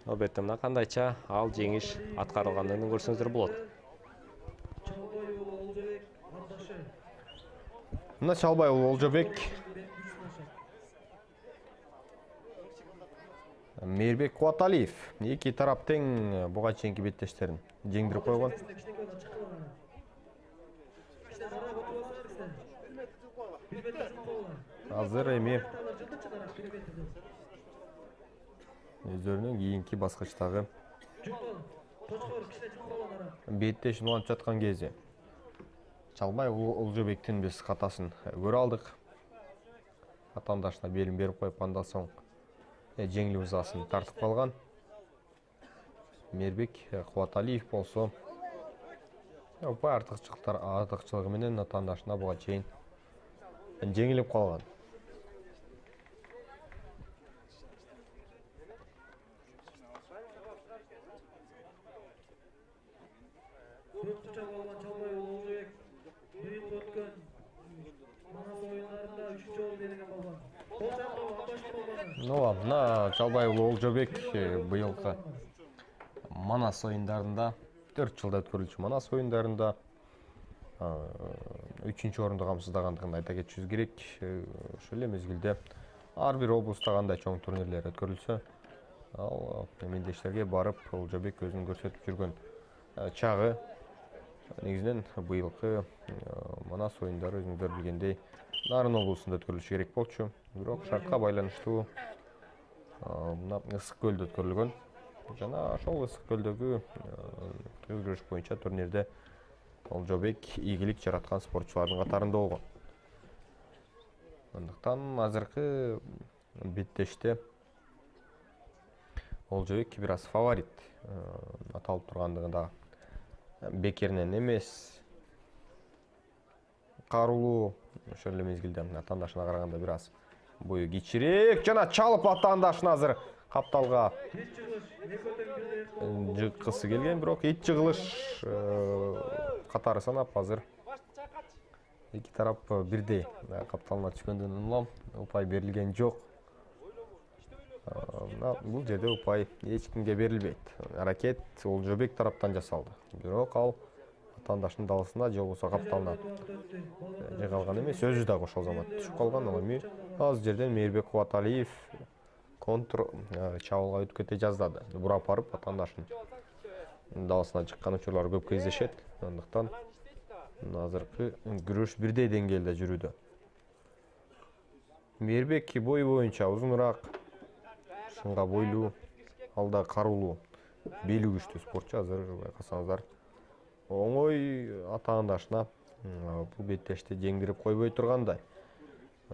Албетте мына кандайча ал жеңиш аткарылгандыгын көрсөңүздөр болот. Мына Чалбай уулу Олжобек, Мейирбек Кубаталиев эки тарап тең буга чейинки беттештерин жеңдирип койгон. Азыр эми өздөрүнүн кийинки баскычтагы беттешин улантып жаткан кезде Чалбай уулу Олжобектин биз катасын көрө алдык. Атаандашына белин берип коюп, андан соң жеңил ызасын тартып калган. Мейирбек Кубаталиев болсо упай артыкчылыгы менен атаандашына буга чейин жеңилип калган. Мына Чалбай уулу Олжобек быйылкы Манас оюндарында 4 жылда өткөрүлчү Манас оюндарында 3-чү орунду камсыздагандыгын айта кетишибиз керек. Ошол эле мезгилде ар бир облуста кандай чоң турнирлер өткөрүлсө, Ал мендештерге барып Олжобек өзүн көрсөтүп жүргөн чагы. Негизинен быйылкы Манас оюндары өзүңүздөр билгендей Нарын облусунда өткөрүлүшү керек болчу. Бирок шартка байланыштуу мына Ысык көлдө өткөрүлгөн. Жана ошол Ысык көлдөгү күрөш боюнча турнирде Олжобек ийгилик жараткан спортчулардын катарында болгон. Андыктан азыркы беттеште Олжобек бир аз фаворит аталып тургандыгы да бекеринен эмес. Карулуу ошол эле мезгилде атаандашына караганда бир аз бою кичирээк жана чалып атаандашын азыр капталга жыккысы келген, бирок ит жыгылыш катары санап азыр эки тарап бирдей капталына түшкөндөн улам упай берилген жок. Бул жерде упай эч кимге берилбейт. Аракет Олжобек тараптан жасалды. Бирок ал атаандашынын далысына же болбосо капталына жыгалган эмес, өзү дагы ошол замат түшүп калган. Ал эми азыр жерден Мейирбек Кубаталиев контр чабуулга өтүп кете жаздады. Бурап барып атаандашынын далысына чыккан учурлар көп кездешет. Андыктан азыркы күрөш бирдей деңгээлде жүрүүдө. Мейирбек бою боюнча узунураак, шыңга бойлуу, алда карулуу, бели күчтүү спортчу. Азыр байкасаңыздар оңой атаандашына бул беттешти жеңдирип койбой тургандай.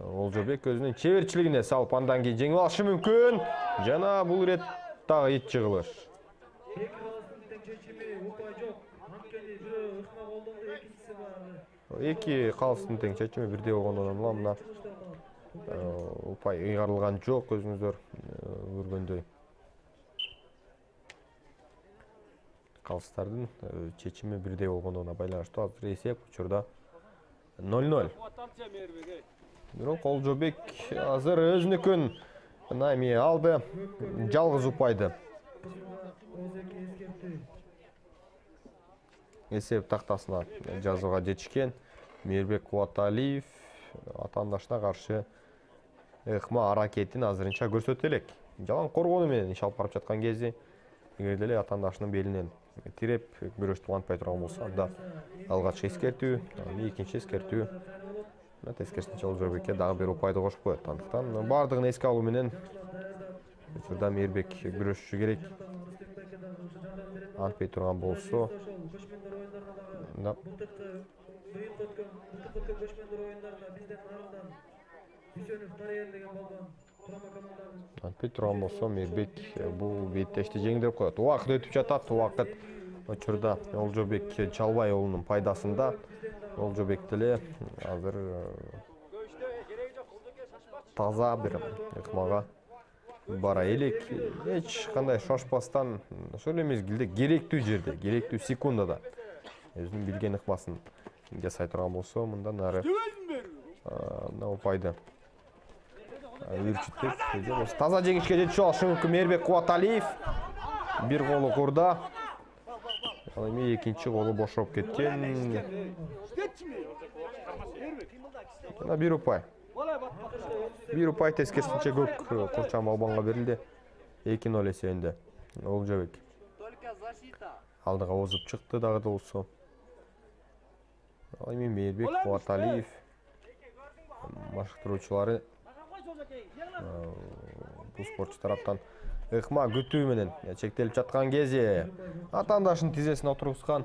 Олжобек өзүнүн чеберчилигине салып андан кийин жеңип алышы мүмкүн. Жана бул ирет дагы ит жыгылыш. Эки калыстын тең чечими бирдей болгондон улам мына упай ыйгарылган жок, өзүңүздөр көргөндөй. Калыстардын чечими бирдей болгондугуна байланыштуу азыр эсеп учурда 0-0. Бирок Олжобек азыр өзүнүкүн эми алды, жалгыз упайды. Эсеп тактасына жазууга жетишкен. Мейирбек Кубаталиев атаандашына каршы ыкма аракетин азырынча көрсөтө элек. Жалаң коргонуу менен иш алып барып жаткан кезде эгер деле атаандашынын белинен тиреп күрөштү улантпай турган болсо, анда алгачкы эскертүү, экинчи эскертүү тескерисинче Олжобекке дагы бир упайды кошуп коет. Андыктан бардыгын эске алуу менен учурда Мейирбек күрөшүшү керек. Антпей турган болсо антпей турган болсо Мейирбек бул беттешти жеңдирип коет. Убакыт өтүп жатат. Убакыт учурда Олжобек Чалбай уулунун пайдасында. Олжобек деле азыр таза бир ыкмага бара элек. Эч кандай шошпастан ошол эле мезгилде керектүү жерде, керектүү секундада өзүнүн билген ыкмасын жасай турган болсо, мындан ары мына упайды үрчүтпөк. Таза жеңишке жетишип алышы мүмкүн Мейирбек Кубаталиев. Бир колу курда. Ал эми экинчи колу бошоп кеткен. Мына бир упай. Бир упай тескерисинче көк Курчан Балбанга берилди. 2-0 эсебинде Олжобек алдыга озуп чыкты дагы болсо. Ал эми Мейирбек Кубаталиев машыктыруучулары бул спортчу тараптан ыкма күтүү менен чектелип жаткан кезде атаандашынын тизесине отургузган.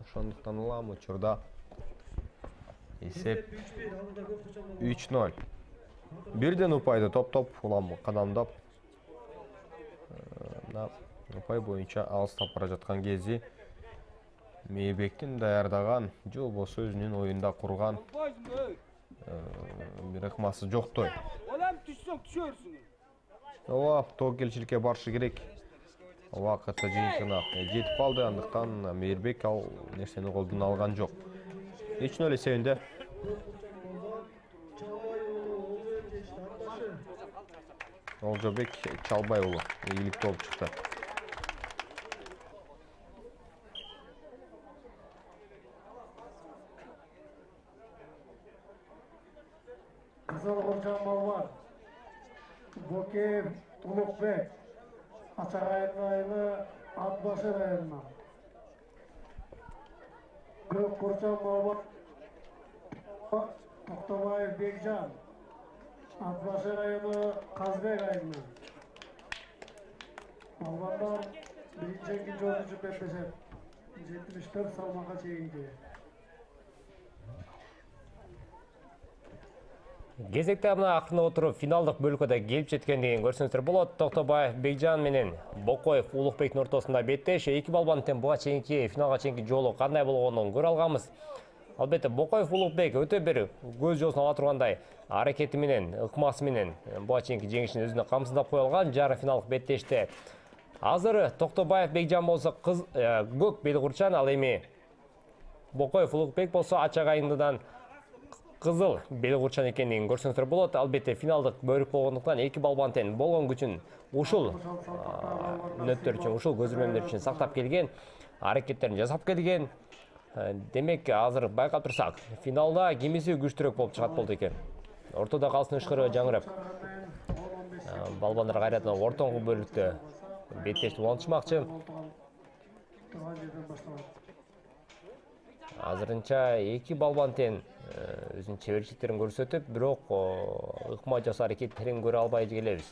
Ошондуктан улам учурда эсеп 3-0. Бирден упайды топ-топ улам кадамдап упай боюнча алыстап бара жаткан кезде Мейирбектин даярдаган же болбосо өзүнүн оюнда курган бир ыкмасы жоктой. Ооба, тоокелчиликке барышы керек. Убакыты жыйынтыгына жетип калды. Андыктан Мейирбек ал нерсени колдон алган жок. 3-0 эсебинде. Олжобек Чалбай уулу ийгиликтүү болуп чыкты. Кызыл Курчан Балбан, Бокеев Улукбек, Ачагай району Ат башы районунан. Көк Курчан Бабак Токтобаев Бекжан. Ат башы району Казбек айылынан. Балбандар биринчи экинчи орунчу беттешет. 74 салмакка чейинки. Кезекте мына акырына отуруп финалдык бөлүккө келип жеткендигин көрсөңүздөр болот. Токтобаев Бекжан менен Бокоев Улукбектин ортосунда беттеш. Эки балбандын буга чейинки финалга чейинки жолу кандай болгонун көрө алганбыз. Албетте Бокоев Улукбек өтө бир көз жоосун ала тургандай аракети менен, ыкмасы менен буга чейинки жеңишин өзүнө камсыздап кое алган. Жарым финалдык беттеште азыр Токтобаев Бекжан болсо көк белкурчан, ал эми Бокоев Улукбек болсо ачагайындыдан кызыл белкурчан экендигин көрсөңүздөр болот. Албетте финалдык бөлүк болгондуктан эки балбан тең болгон күчүн ушул мүнөттөр үчүн, ушул көзүрмөмдөр үчүн сактап келген, аракеттерин жасап келген. Демек азыр байкап турсак, финалда кимиси күчтүүрөөк болуп чыгат болду экен. Ортодо калсын ышкыры жаңырап. Балбандар кайрадан ортоңку бөлүктө беттешти улантышмакчы. Азырынча эки балбан тең өзүнүн чеберчиликтерин көрсөтүп, бирок ыкма жасоо аракеттерин көрө албай келебиз.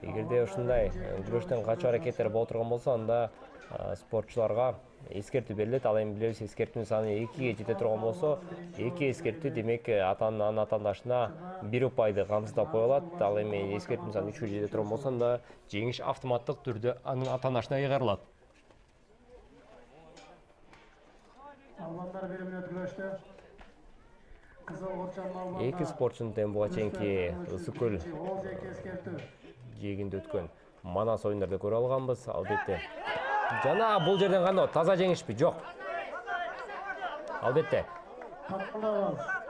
Эгерде ушундай күрөштөн качуу аракеттери боло турган болсо, анда спортчуларга эскертүү берилет. Ал эми билебиз, эскертүүнүн саны 2-ге жете турган болсо, 2 эскертүү демек анын атаандашына 1 упайды камсыздап коюлат. Ал эми эскертүүнүн саны 3-кө жете турган болсо, анда жеңиш автоматтык түрдө анын атаандашына кайрылат. Албандар 1 мүнөт күрөштө. Кызыл Курчан балбандар. Эки спортчунун тең буга чейинки ысык көл жээгинде өткөн манас оюндарды көрө алганбыз. Албетте жана бул жерден кандай таза жеңишпи? Жок. Албетте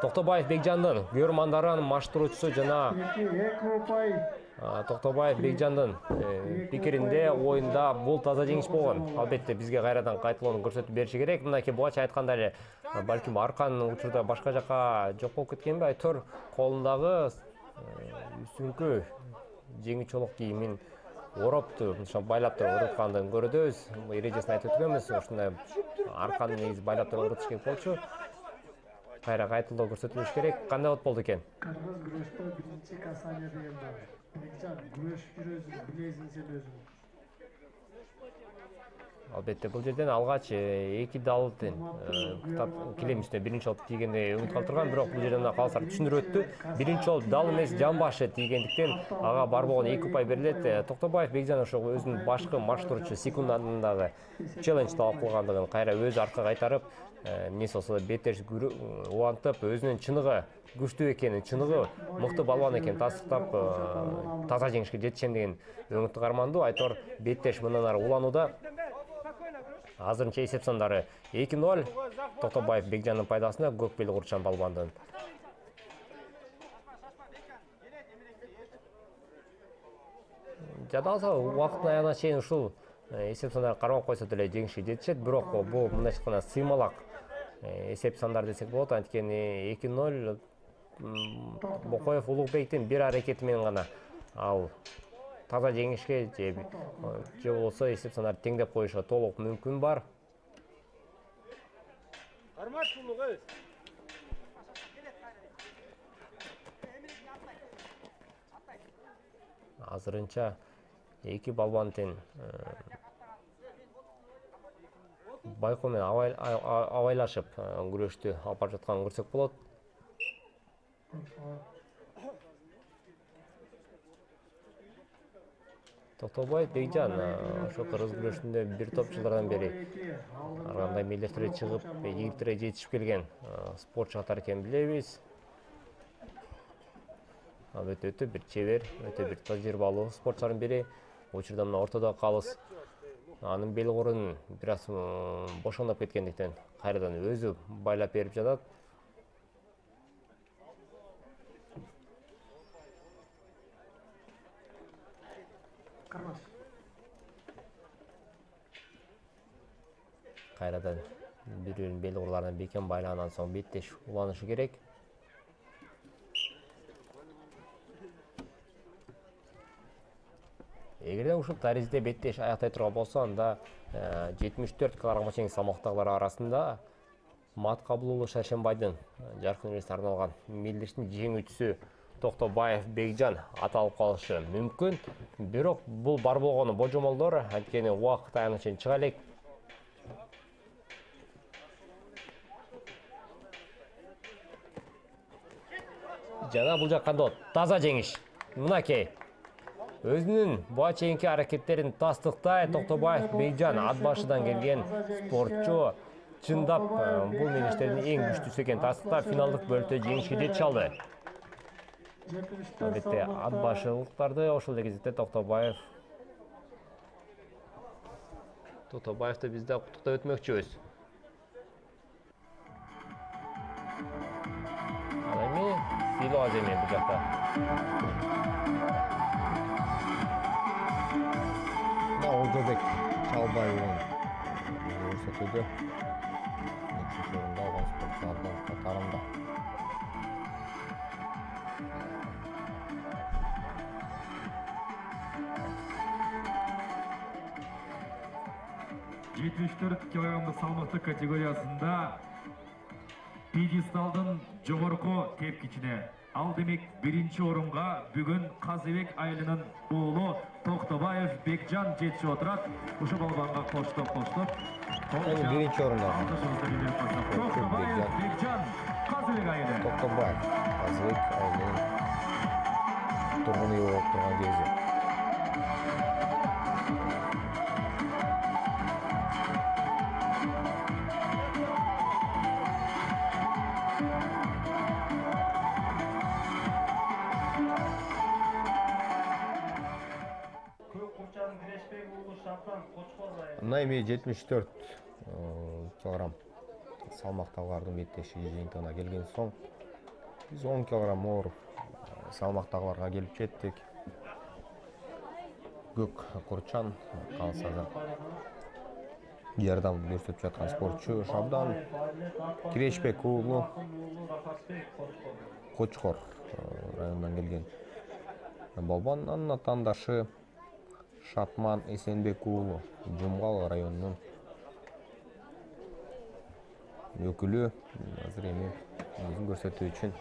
Токтобаев Бекжандын көрмандарын маштыруучусу жана Токтобаев Бекжандын пикиринде оюнда бул таза жеңиш болгон. Албетте бизге кайрадан кайталоону көрсөтүп бериши керек. Мынакей бугача айтканда эле балким аркан учурда башка жака жок болуп кеткенби, айтор колундагы үстүңкү жеңи чолок кийимин оропту, ошо байлап туруп уруткандыгын көрөбүз. Эрежесин айтып өткөнбүз, ушундай арканы негизи байлап туруп урутуш керек болчу. Кайра кайталоо көрсөтүлүш керек. Кандай болду экен? Кыргыз күрөштө биринчи касание деген бар. Бекжан күрөш жүрөсүң, билесиң сен өзүң. Албетте бул жерден алгач эки далдын килем үстүнө биринчи жолу тийгенде үмүт калтырган, бирок бул жерден калсар түшүндүрүп өттү. Биринчи жолу дал эмес, жан башы тийгендиктен ага бар болгон 2 упай берилет. Токтобаев Бекжан ошо өзүнүн башкы маштыруучу секундандагы челлендж талап кылгандыгын кайра өзү арка кайтарып, эмнеси болсо да беттеш улантып, өзүнүн чыныгы күчтүү экенин, чыныгы мыкты балбан экенин тастыктап, таза жеңишке жетишем деген өңүттү карманду. Айтор беттеш мындан ары уланууда. Азырынча эсеп сандары 2-0 Токтобаев Бекжандын пайдасына көк белкурчан балбандын. Жадалса убакыттын аягына чейин ушул эсеп сандары кармап койсо деле жеңишке жетишет, бирок бул мындайча айтканда сыймалак эсеп сандар десек болот. Анткени 2-0 Бокоев Улукбектин бир аракети менен гана ал таза жеңишке же болсо эсеп сандарды теңдеп коюшка толук мүмкүн бар. Азырынча эки балбан тең байкоо менен абайлашып күрөштү алып барып жатканын көрсөк болот. Токтобаев Бекжан ошо кыргыз күрөшүндө бир топ жылдардан бери ар кандай мелдештерге чыгып, ийгиликтерге жетишип келген спортчу катары экенин билебиз. Албетте өтө бир чебер, өтө бир тажрыйбалуу спортчулардын бири. Учурда мына ортодо калыс анын белкорун бир аз бошондоп кеткендиктен кайрадан өзү байлап берип жатат. Кайрадан бир-биринин белкорларына бекем байлагандан соң беттеш уланышы керек. Эгерде ушул таризде беттеш аяктай турган болсо, анда 74 килограммга чейин салмактагылар арасында Маткабылуулу Шаршембайдын жаркын элесине арналган мелдештин жеңүүчүсү Токтобаев Бекжан аталып калышы мүмкүн. Бирок бул бар болгону божомолдор, анткени убакыт аяна чейин чыга элек. Жана бул жакканда таза жеңиш. Мынакей. Өзүнүн буга чейинки аракеттерин тастыктай Токтобаев Бекжан ат башыдан келген спортчу чындап бул мелдештердин эң күчтүүсү экенин тастыктап финалдык бөлүктө жеңишке жетише алды. Албетте ат башылыктарды ошол эле кезекте Токтобаевди биз да куттуктап өтмөкчүбүз. Ал эми Сило Аземи бул жакта. Олжобек Чалбаевдин көрсөтүүдө экинчи орунда алган спортчулардын катарында. килограммдык салмактык категориясында пьедесталдын жогорку тепкичине ал демек биринчи орунга бүгүн Казыбек айылынын уулу Токтобаев Бекжан жетишип отурат. Ушул балбанга коштоп. Биринчи орунда Токтобаев Бекжан Казыбек айылы. Токтобаев Казыбек айылынын тургун үй болуп турган кези. Мына эми 74 килограмм салмактагылардын беттеши жыйынтыгына келген соң биз 10 килограмм оор салмактагыларга келип жеттик. Көк Курчан калсада жардам көрсөтүп жаткан спортчу Шабдан Кирешбек уулу Кочкор районунан келген балбан. Анын атаандашы Шатман Эсенбек уулу Жумгал районунун өкүлү. Азыр эми өзүн көрсөтүү үчүн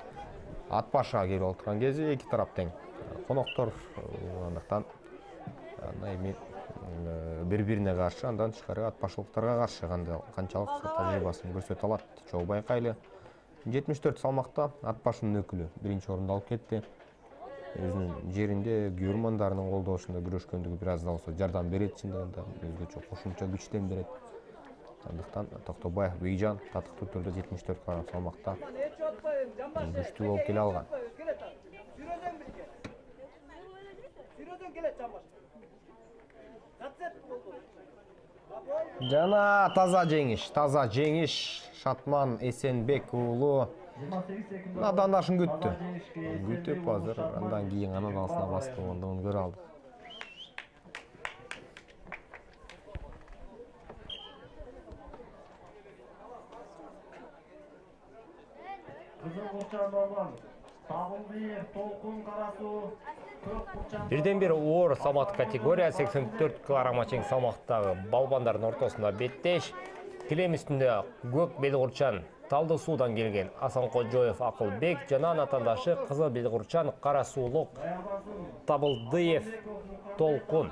ат башыга келип отурган кези эки тарап тең коноктор болгондуктан эми бири-бирине каршы, андан тышкары ат башылыктарга каршы канчалык тажрыйбасын көрсөтө алат. Чогуу байкайлы 74 салмакта ат башынын өкүлү биринчи орунду алып кетти. Өзүнүн жеринде күйөрмандарынын колдошунда күрөшкөндүгү бир аз да болсо жардам берет, чындыгында өзгөчө кошумча күчтен берет. Андыктан Токтобаев Бекжан татыктуу түрдө 74 килограмм салмакта күчтүү болуп келе алган. Жана таза жеңиш Шатман Эсенбек уулу надандашын күтүп азыр андан кийин анын алсына бастыргандыгын көрө алдык. Бирден бир оор салмак категория 84 килограммга чейин салмактагы балбандардын ортосунда беттеш. Килем үстүндө көк белгурчан Талды суудан келген Асан Кожоев Акылбек жана атаандашы кызыл белгурчан кара суулук Табылдыев Толкун.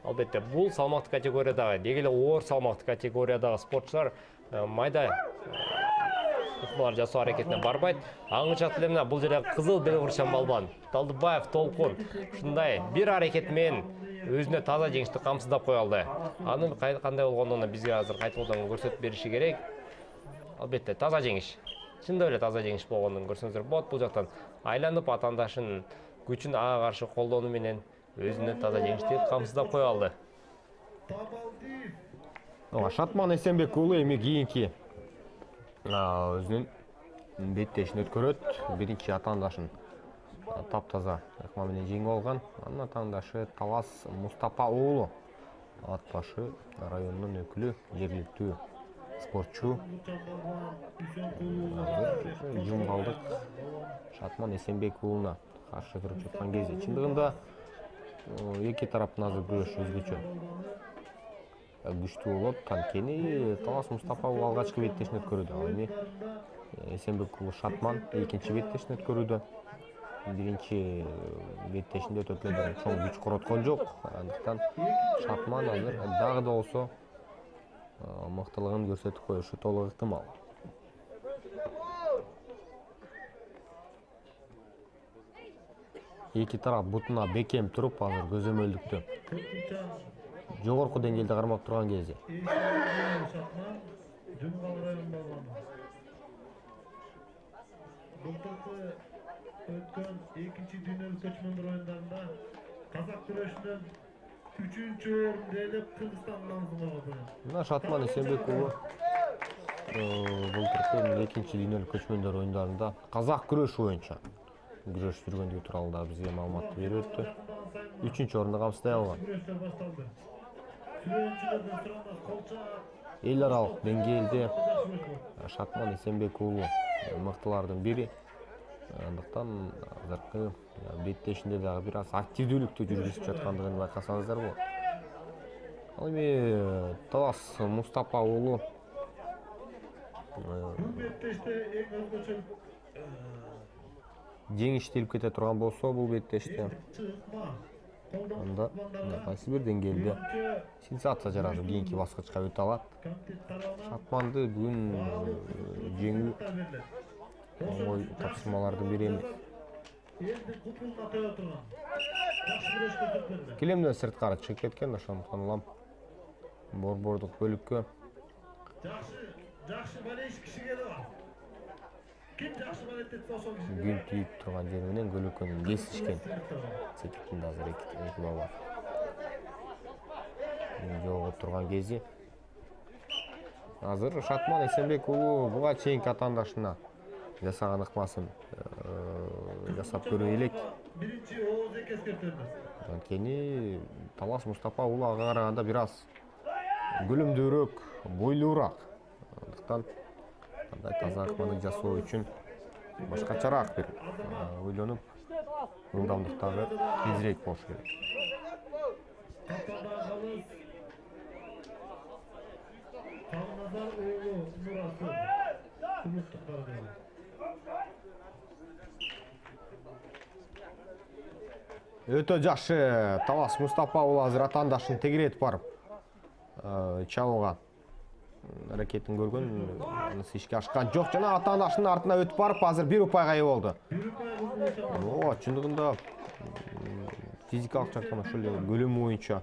Албетте бул салмактык категориядагы деги эле оор салмактык категориядагы спортчулар майда ыкмалар жасоо аракетине барбайт. Аңычат эле мына бул жерде кызыл белгурчан балбан Талдыбаев Толкун ушундай бир аракет менен өзүнө таза жеңишти камсыздап кое алды. Анын кандай болгондугун бизге азыр кайтуудан көрсөтүп бериши керек. Албетте таза жеңиш. Чындап эле таза жеңиш болгондугун көрсөңүздөр болот. Бул жактан айланып атаандашынын күчүн ага каршы колдонуу менен өзүнө таза жеңишти камсыздап кое алды. Шатман Эсенбек уулу эми кийинки өзүнүн беттешин өткөрөт. Биринчи атаандашын таптаза ыкма менен жеңип алган. Анын атаандашы Талас Мустапа уулу ат башы районунун өкүлү, жергиликтүү спортчу. Жум калдык. Шатман Эсенбек уулуна каршы туруп жаткан кезде чындыгында эки тараптын азыр күрөшү өзгөчө күчтүү болот. Анткени Талас Мустапа уулу алгачкы беттешин өткөрүүдө, ал эми Эсенбек уулу Шатман экинчи беттешин өткөрүүдө. Биринчи беттешинде өтөп эле чоң күч короткон жок. Андыктан Шатман азыр дагы да болсо мыктылыгын көрсөтүп коюшу толук ыктымал. Эки тарап бутуна бекем туруп азыр көзөмөлдүктө жогорку деңгээлде кармап турган кезде өткөн экинчи дүйнөлүк көчмөндөр оюндарында казак күрөшүнөн 3-орунду ээлеп Кыргызстандын намысын коргоду. Мына Шатман Эсенбек уулу былтыркы экинчи дүйнөлүк көчмөндөр оюндарында казак күрөшү боюнча күрөш жүргөндүгү тууралуу да бизге маалымат берип өттү. 3-орунду камсыздай алган. Эл аралык деңгээлде Шатман Эсенбек уулу мыктылардын бири. Андыктан азыркы беттешинде дагы бир аз активдүүлүктү жүргүзүп жаткандыгын байкасаңыздар болот. Ал эми Талас Мустапа уулу беттеште эң өзгөчө жеңиштелип кете турган болсо бул беттеште анда кайсы бир деңгээлде сенсация жаратып кийинки баскычка өтө алат. Шатманды бүгүн жеңүү оңой тапшырмалардын бири эмес. Килемден сырткары чыгып кеткен, ошондуктан улам борбордук бөлүккө жакшы балеш киши келип бар. Ким жакшы балет этсе ошол киши. Гүл түйүп турган жери менен көлөкөнүн кесишкен. Секитинде азыр эки бала жолугуп турган кези. Азыр Шатман Эсенбек уулу буга чейинки атаандашына жасаган ыкмасын жасап көрө элек. Биринчи ооз эскертебиз. Анткени Талас Мустапа уулу ага караганда бир аз көлөмдүүрөөк, бойлуураак. Андыктан андай таза ыкманы жасоо үчүн башкачараак бир ойлонуп, ылдамдыктагы тезирээк болуш керек. Калназар уулу Нурасы. Өтө жакшы. Талас Мустапа уулу азыр атаандашын тегеретип барып чабууга аракетин көргөн, анысы ишке ашкан жок. Жана атаандашынын артына өтүп барып азыр бир упайга ээ болду. Чындыгында физикалык жактан ошол эле көлөмү боюнча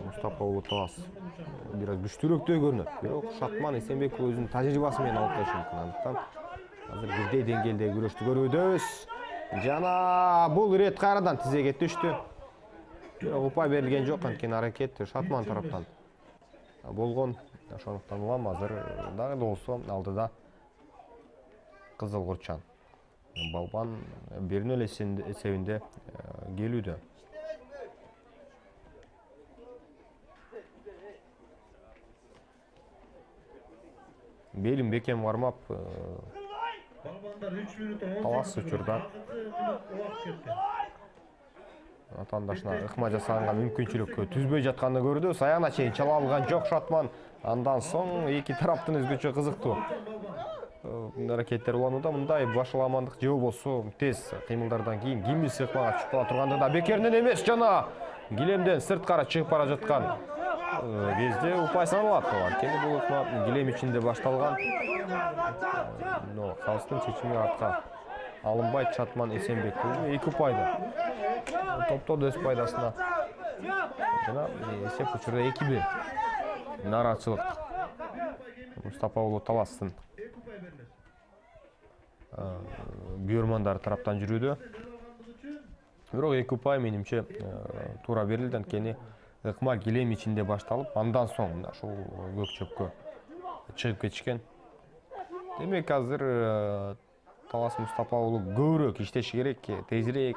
Мустапа уулу Талас бир аз күчтүүрөөктөй көрүнөт. Бирок Шатман Эсенбек өзүнүн тажрыйбасы менен алып келиши мүмкүн. Андыктан азыр бирдей деңгээлдеги күрөштү көрүүбүз. Жана бул ирет кайрадан тизеге түштү. Бирок упай берилген жок, анткени аракет Шатман тараптан болгон. Ошондуктан улам азыр дагы да болсо алдыда Кызыл Курчан. Балбан 1-0 эсебинде келүүдө. Белин бекем кармап Балбандар 3 мүнөт Талас учурда атаандашына ыкма жасаганга мүмкүнчүлүк түзбөй жатканын көрдүбүз. Аягына чейин чала алган жок Шатман. Андан соң эки тараптын өзгөчө кызыктуу аракеттер уланууда. Мындай башаламандык же болбосо тез кыймылдардан кийин кимиси ыкмага чыгып кала тургандыгында бекеринен эмес, жана килемден сырткары чыгып бара жаткан кезде упай саналат. Анткени бул ыкма килем ичинде башталган. Калыстын чечими артка алынбайт. Шатман Эсенбек уулу 2 упайда топтоду өз пайдасына. Жана эсеп учурда 2-1. Нааразычылык Мустапа уулу Таластын бүйөрмандары тараптан жүрүүдө. Бирок 2 упай менимче туура берилди, анткени ыкма килем ичинде башталып, андан соң ушул көк чөпкө чыгып кетишкен. Демек азыр Талас Мустапа уулу көбүрөөк иштеши керек, тезирээк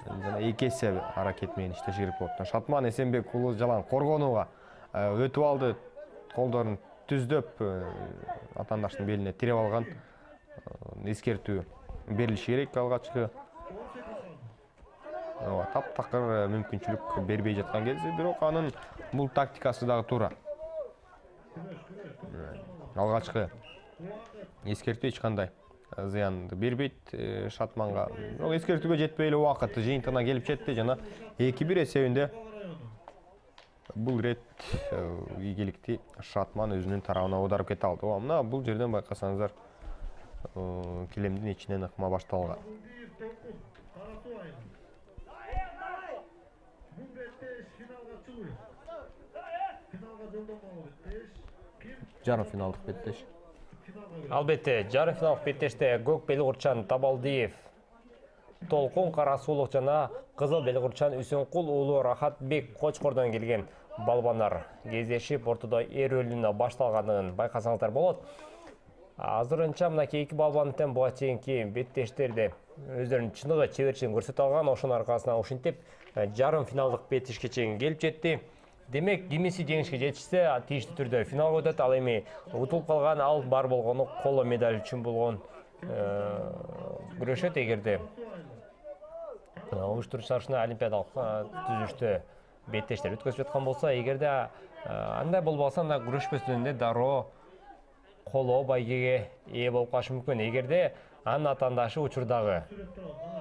жана 2 эсе аракет менен иштеши керек болот. Шатман Эсенбек уулу жалаң коргонууга өтүп алды, колдорун түздөп атаандаштын белине тиреп алган. Эскертүү берилиши керек алгачкы. Таптакыр мүмкүнчүлүк бербей жаткан кезде, бирок анын бул тактикасы дагы туура. Алгачкы эскертүү эч кандай зыянды бербейт Шатманга. Бирок эскертүүгө жетпей эле убакыт жыйынтыгына келип жетти жана 2-1 эсебинде бул ирет ийгиликти Шатман өзүнүн тарабына аударып кете алды. Мына бул жерден байкасаңыздар килемдин ичинен ыкма башталган. Жарым финалдык беттеш. Албетте, жарым финалдык беттеште көк белгурчан Табалдиев, Толкун Карасулов жана кызыл белгурчан Үсөнкул уулу Рахатбек Кочкордон келген балбандар кездешип ортодо эр рөлүнө башталганын байкасаңыздар болот. Азырынча мынакей эки балбандын тең буга чейинки беттештерде өздөрүнүн чыныгы чеберчилигин көрсөтө алган, ошонун аркасынан ушинтип жарым финалдык беттешке чейин келип жетти. Демек, кимиси жеңишке жетишсе, тийиштүү түрдө финалга өтөт. Ал эми утулуп калган, ал бар болгону коло медаль үчүн болгон күрөшөт. Эгерде уюштуруучулар олимпиадалык түзүлүштө беттештер өткөзүп жаткан болсо, эгерде андай болбосо, анда күрөшпөстөн эле дароо коло байгеге ээ болуп калышы мүмкүн. Эгерде анын атаандашы учурдагы,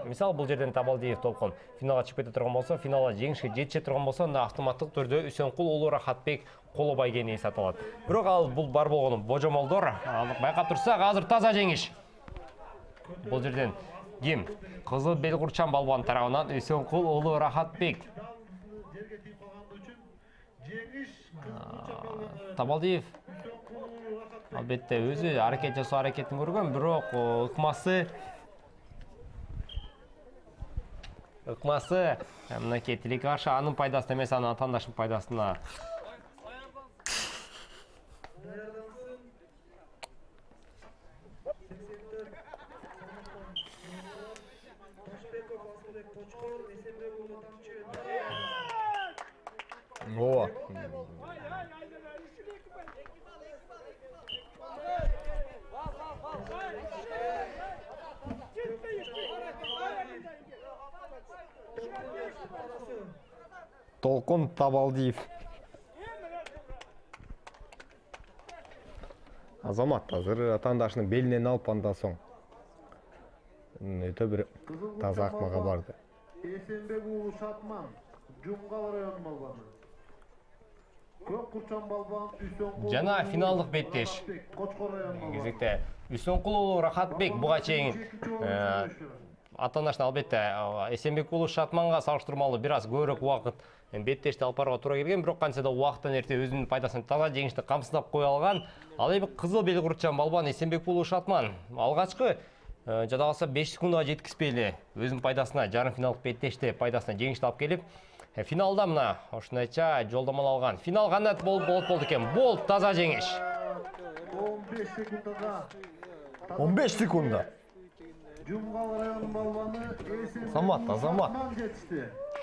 мисалы бул жерден Табалдиев Толкун финалга чыгып кете турган болсо, финалга жеңишке жетише турган болсо, анда автоматтык түрдө Үсөнкул уулу Рахатбек коло байгенин ээси аталат. Бирок ал бул бар болгону божомолдор. Байкап турсак, азыр таза жеңиш. Бул жерден ким? Кызыл белгурчан балбан тарабынан Үсөнкул уулу Рахатбек. Табалдиев албетте өзү аракет жасоо аракетин көргөн, бирок ыкмасы мынакей тилекке каршы анын пайдасына эмес, анын атаандашынын пайдасына. Ооба. Толкун Табалдиев. Азамат азыр атаандашынын белинен алып андан соң өтө бир таза акмага барды. Эсенбек уулу Шатман, Жумгал районунун балбаны. Көк курчан балбан Үсөнкул жана финалдык беттеш. Кезекте Үсөнкул уулу Рахатбек буга чейин атаандашына албетте Эсенбек уулу Шатманга салыштырмалуу бир аз көбүрөөк убакыт беттешти алып барууга туура келген, бирок кантсе да убакыттан эрте өзүнүн пайдасына таза жеңишти камсыздап кое алган. Ал эми кызыл белгурчан балбан Эсенбек уулу Шатман алгачкы жада калса 5 секундага жеткизбей эле өзүнүн пайдасына жарым финалдык беттеште пайдасына жеңишти алып келип, финалда мына ошондойча жолдомол алган. Финал кандай болду экен? Бол таза жеңиш. 15 секундага 15 секунда. Жумгал районунун балбаны Азамат.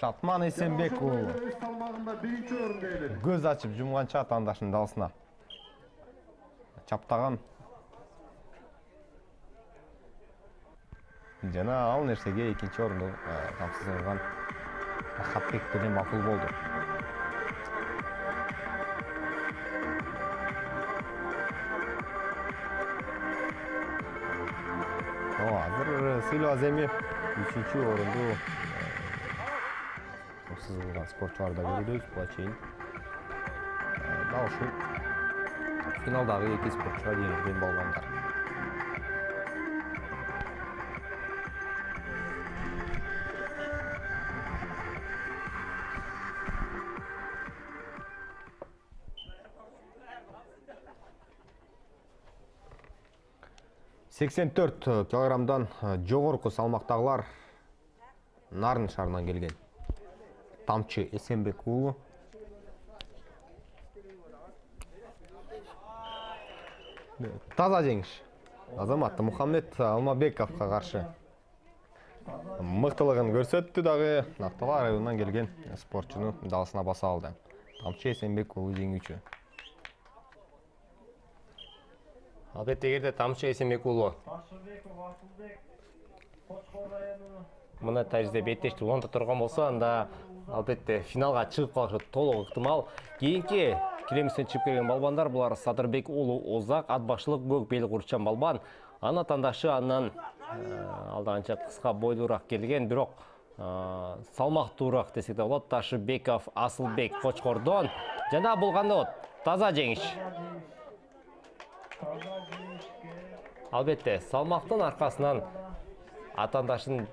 Шатман Эсенбек уулу. Өз салмагында биринчи орунда ээледи. Көз ачып жумганча атаандашынын даасына чаптаган. Жана ал нерсеге экинчи орунду камсыздырган Рахатбек деле макул болду. Азыр сыйлоо аземи 3-чү орунду камсыздырган спортчуларда көрүбүз. Буга чейин дал ушул финалдагы эки спортчуга жеңилген балбандар. Сексен 84 килограммдан жогорку салмактагылар Нарын шаарынан келген. Тамчы Эсенбек уулу. Таза жеңиш. Азамат Мухаммед Алмабековго каршы мыктылыгын көрсөттү дагы. Актала районунан келген спортчуну даасына баса алды. Тамчы Эсенбек уулу жеңүүчү. Албетте эгерде Тамчы Эсенбек уулу Ташыбеков Асылбек Кочкор району мына тажрыйбде беттешти уланта турган болсо, анда албетте финалга чыгып калышы толук ыктымал. Кийинки киремистен чыгып келген балбандар булар Садырбек уулу Озак, ат башылык көк белик урчан балбан. Ана тандашы андан алдаганча кыска бойлуураак келген, бирок салмактуураак десек да болот. Ташыбеков Асылбек Кочкордон жана бул кандай болот? Таза жеңиш. Албетте салмактын аркасынан атандашын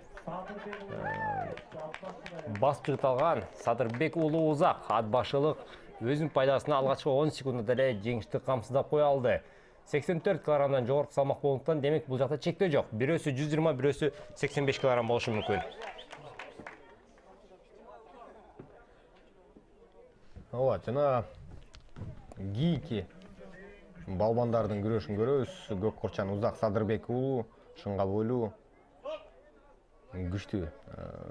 басып чыгыталган Садырбек уулу Озак ат башылык өзүнүн пайдасына алгачкы 10 секундда деле жеңишти камсыздап кое алды. 84 килограммдан жогорку салмак болгондуктан демек бул жакта чектөө жок. Бирөөсү 120, бирөөсү 85 килограмм болушу мүмкүн. Ооба, жана кийинки балбандардын күрөшүн көрөбүз. Көк курчан Узак Садырбек уулу шыңга бойлуу күчтүү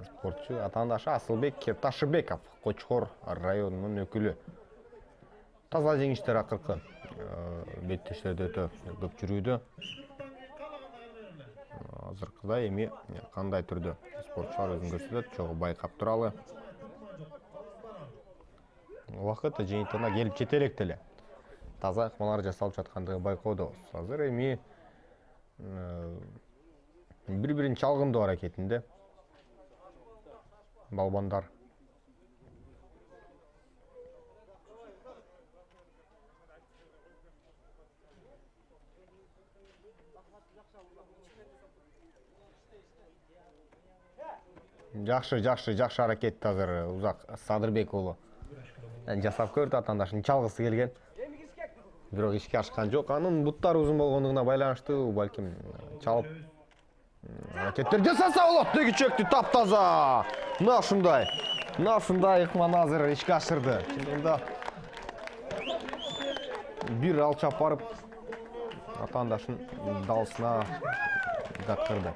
спортчу. Атаандашы Асылбек Ташыбеков Кочкор районунун өкүлү. Таза жеңиштер акыркы беттештерде өтө көп жүрүүдө. Азыркыда эми кандай түрдө спортчулар өзүн көрсөтөт, чогуу байкап туралы. Убакыт жыйынтыгына келип жете элек деле. Таза ыкмалар жасалып жаткандыгы байкоодобуз. Азыр эми бири-бирин чалгындоо аракетинде балбандар. Жакшы аракет азыр Узак Садырбек уулу жасап көрдү, атаандашын чалгысы келген. Бирок ишке ашкан жок. Анын буттары узун болгондугуна байланыштуу, балким чалып аракеттер жасаса болот. Деги чөктү таптаза. Мына ушундай ыкманы азыр ишке ашырды. Чындыгында бир алчап барып атаандашын далысына жаткырды.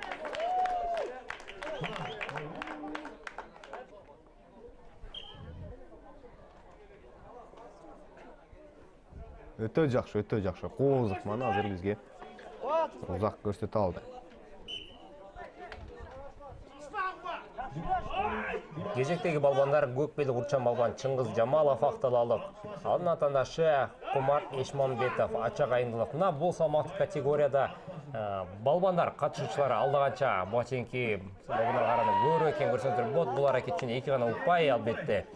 Өтө жакшы. Кооз ыкманы азыр бизге Узак көрсөтө алды. Кезектеги балбандар көк белик урчан балбан Чыңгыз Жамалов Акталалык. Анын атаандашы Кумар Эшмамбетов Ачак Айындылык. Мына бул салмактык категорияда балбандар катышуучулар алдаганча баченки балбандар караганда көбүрөөк экенин көрсөтүп болот. Бул аракет үчүн эки гана упай албетте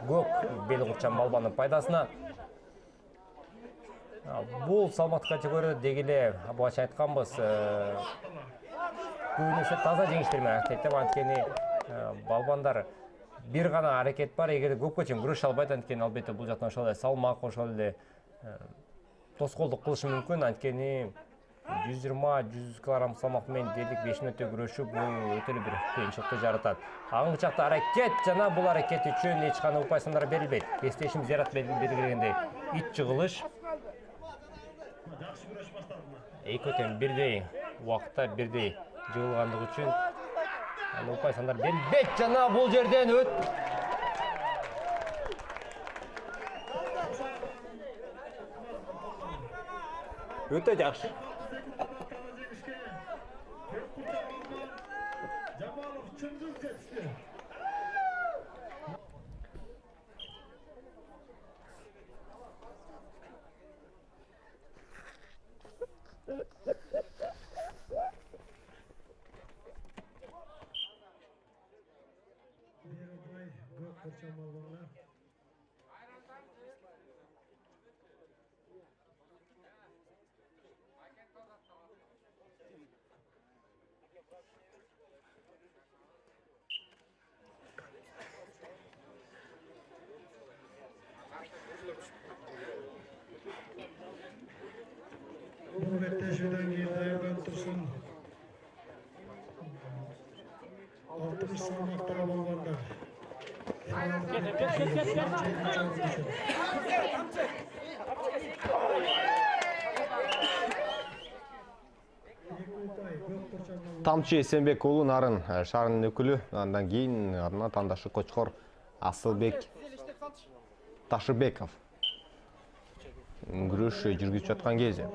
көк белик урчан балбандын пайдасына. Бул салмактык категорияда дегеле бача айтканбыз, көбүнесе таза жеңиштер менен актейт. Анткени балбандар бир гана аракет бар, эгер көпкө чейин күрөшө албайт, анткени албетте бул жактан ошол эле салмак, ошол эле тоскоолдук кылышы мүмкүн. Анткени 120-100 килограмм салмак менен дерлик 5 мүнөттө күрөшүү бул өтө эле бир кыйынчылыкты жаратат. Аңгы чакта аракет жана бул аракет үчүн эч кандай упай сандар берилбейт. Эстешим Зиярат белгилегендей ит жыгылыш. Экөтен бирдей убакытта бирдей жыгылгандыгы үчүн упай сандар берилбейт жана бул жерден өтө жакшы. Беттешүүдөн кийин даярданып турсун. 60 салмактагы балбандар. Тамчы Эсенбек уулу Нарын шаарынын өкүлү, андан кийин анын атаандашы Кочкор Асылбек Ташыбеков күрөш жүргүзүп жаткан кезде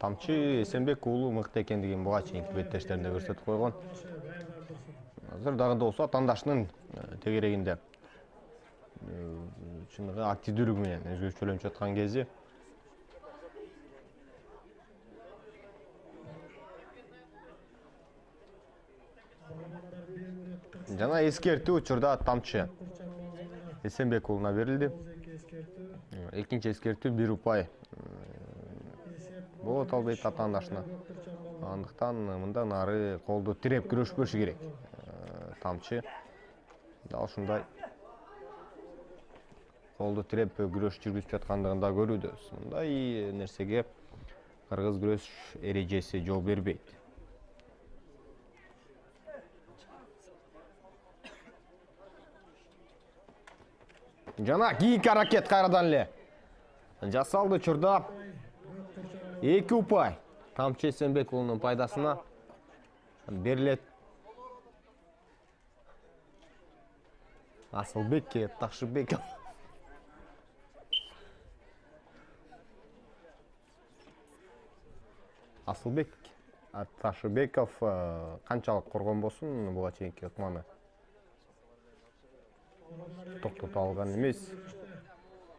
Тамчы Эсенбек уулу мыкты экендигин буга чейинки беттештеринде көрсөтүп койгон. Азыр дагы да болсо атаандашынын тегерегинде чыныгы активдүүлүгү менен өзгөчөлөнүп жаткан кези. Жана эскертүү учурда Тамчы Эсенбек уулуна берилди. Экинчи эскертүү 1 упай болот албайт атаандашына. Андыктан мындан ары колду тиреп күрөшпөшү керек. Тамчы дал ушундай колду тиреп күрөш жүргүзүп жаткандыгын да көрүүбүз. Мындай нерсеге кыргыз күрөш эрежеси жол бербейт. Жана кийинки аракет кайрадан эле жасалды учурда 2 упай Тамчы Эсенбек уулунун пайдасына берилет. Асылбекке Ташыбеков. Асылбек Ташыбеков канчалык коргон болсун, буга чейинки ыкманы токтото алган эмес.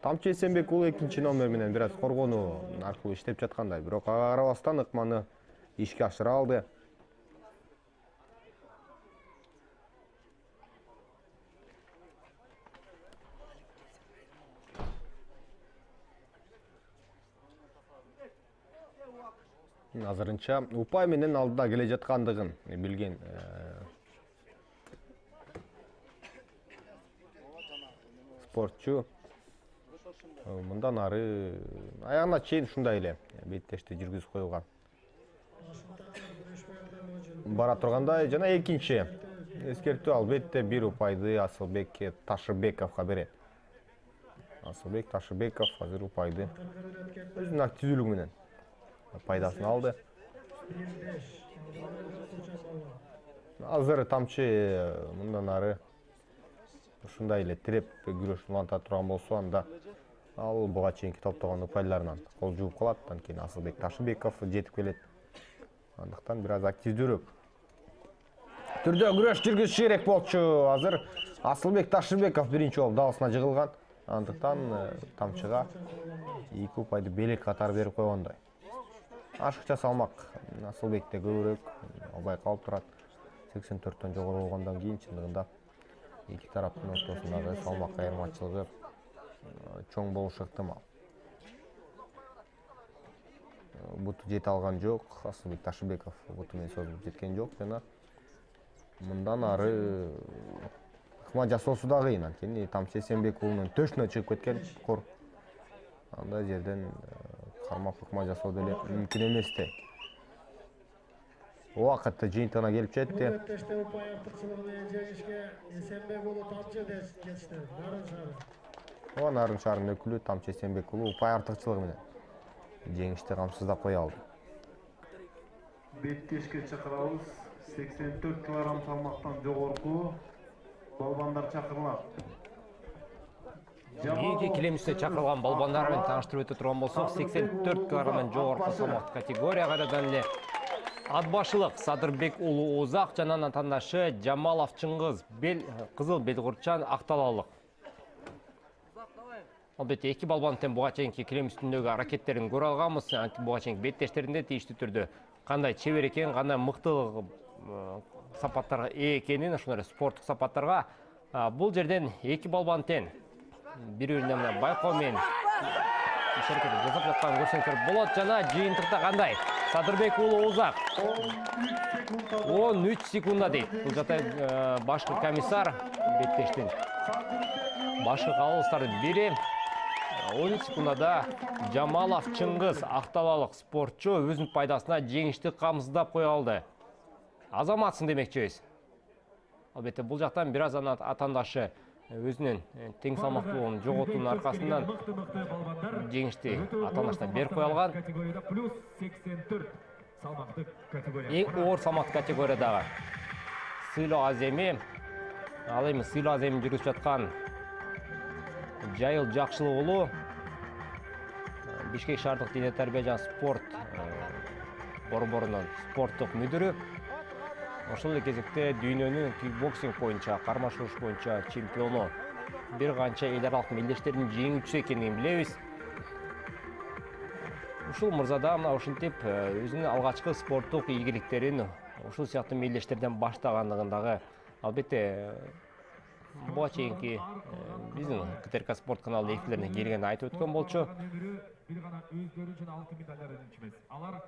Тамчы Эсенбек уулу 2-номер менен бир аз коргонуу аркылуу иштеп жаткандай, бирок ага карабастан ыкманы ишке ашыра алды. Азырынча упай менен алдыда келе жаткандыгын билген спортчу мындан ары аягына чейин ушундай эле беттешти жүргүзүп коюлган бара тургандай. Жана экинчи эскертүү албетте 1 упайды Асылбек Ташыбековго берет. Асылбек Ташыбеков азыр упайды өзүнүн активдүүлүгү менен пайдасын алды. Азыр Тамчы мындан ары ушундай эле тиреп күрөш уланта турган болсо, анда ал буга чейинки топтогон упайларынан кол жууп калат. Андан кийин Асылбек Ташыбеков жетип келет. Андыктан бир аз активдүүрөөк түрдө күрөш жүргүзүш керек болчу. Азыр Асылбек Ташыбеков биринчи болуп дагысына жыгылган. Андыктан Тамчыга 2 упайды белек катары берип койгондой. Ашыкча салмак Асылбекте көбүрөөк байкалып турат. 84төн жогору болгондон кийин чындыгында эки тараптын ортосундагы салмак айырмачылыгы чоң болушу ыктымал. Буту жете алган жок, Асылбек Ташыбеков буту менен созулуп жеткен жок жана мындан ары ыкма жасоосу да кыйын. Анткени Тамчы Эсенбек уулунун төшүнө чыгып кеткен кор. Андай жерден кармап ыкма жасоо деле мүмкүн эместей. Убакытты жыйынтыгына келип жетти. Нарын шаарынын өкүлү Тамчы Эсенбек уулу упай артыкчылыгы менен жеңишти камсыздап кое алды. Беттешке чакырабыз. 84 кг салмактан жогорку балбандар чакырылат. Кийинки келемиште чакырылган балбандар менен тааныштырып өтө турган болсок, 84 кгдан жогорку салмак категория кайрадан эле Атбашылык Садырбек уулу Озак жана атаандашы Жамалов Чыңгыз кызыл белгурчан Акталалык. Албетте эки балбан тең буга чейинки килем үстүндөгү аракеттерин көрө алганбыз. Буга чейинки беттештеринде тийиштүү түрдө кандай чебер экен, кандай мыктылык сапаттарга ээ экенин, ошондой спорттук сапаттарга бул жерден эки балбан тең бири-бирине менен байкоо менен иш-аракет жасап жатканын көрсөңүздөр болот. Жана жыйынтыкта кандай Садырбек уулу Озак 13 секундда дейт. Бул жата башкы комиссар беттештин башкы калыбыстардын бири. 13 секундада Жамалов Чыңгыз Акталалык спортчу өзүнүн пайдасына жеңишти камсыздап кое алды. Азаматсың демекчибиз. Албетте бул жактан бир аз атаандашы өзүнүн тең салмактуулугун жоготуунун аркасынан жеңишти атаандашына берип кое алган. Категорияда плюс 84 салмактык категория. Эң оор салмак категориядагы сыйлоо аземи, ал эми сыйлоо аземин жүргүзүп жаткан Жайыл Жакшылык уулу Бишкек шаардык дене тарбия жана спорт борборунун спорттук мүдүрү. Ошол эле кезекте дүйнөнүн кикбоксинг боюнча, карма шуруш боюнча чемпиону, бир канча эл аралык мелдештердин жеңүүчүсү экенин билебиз. Ушул мырза да мына ушинтип өзүнүн алгачкы спорттук ийгиликтерин ушул сыяктуу мелдештерден баштагандыгын дагы албетте буга чейинки биздин КТРК спорт каналынын эфирлерине келгенде айтып өткөн болчу. Бир гана өздөрү үчүн алтын медальдарын эмес. Алар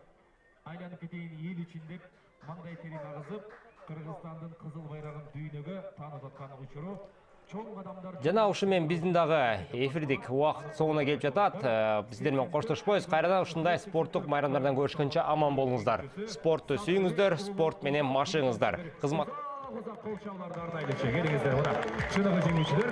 айланып кетейин эл үчүн деп маңдай терин агызып, Кыргызстандын кызыл байрагын дүйнөгө таанып аткан учуру чоң кадамдар. Жана ушу менен биздин дагы эфирдик убакыт соңуна келип жатат. Сиздер менен коштошпойбуз. Кайрадан ушундай спорттук майрамдардан көрүшкөнчө аман болуңуздар. Спортту сүйүңүздөр, спорт менен машыгыңыздар. Кызмат кол чабууларды ардайлычы келиңиздер мына чыныгы жеңүүчүлөр.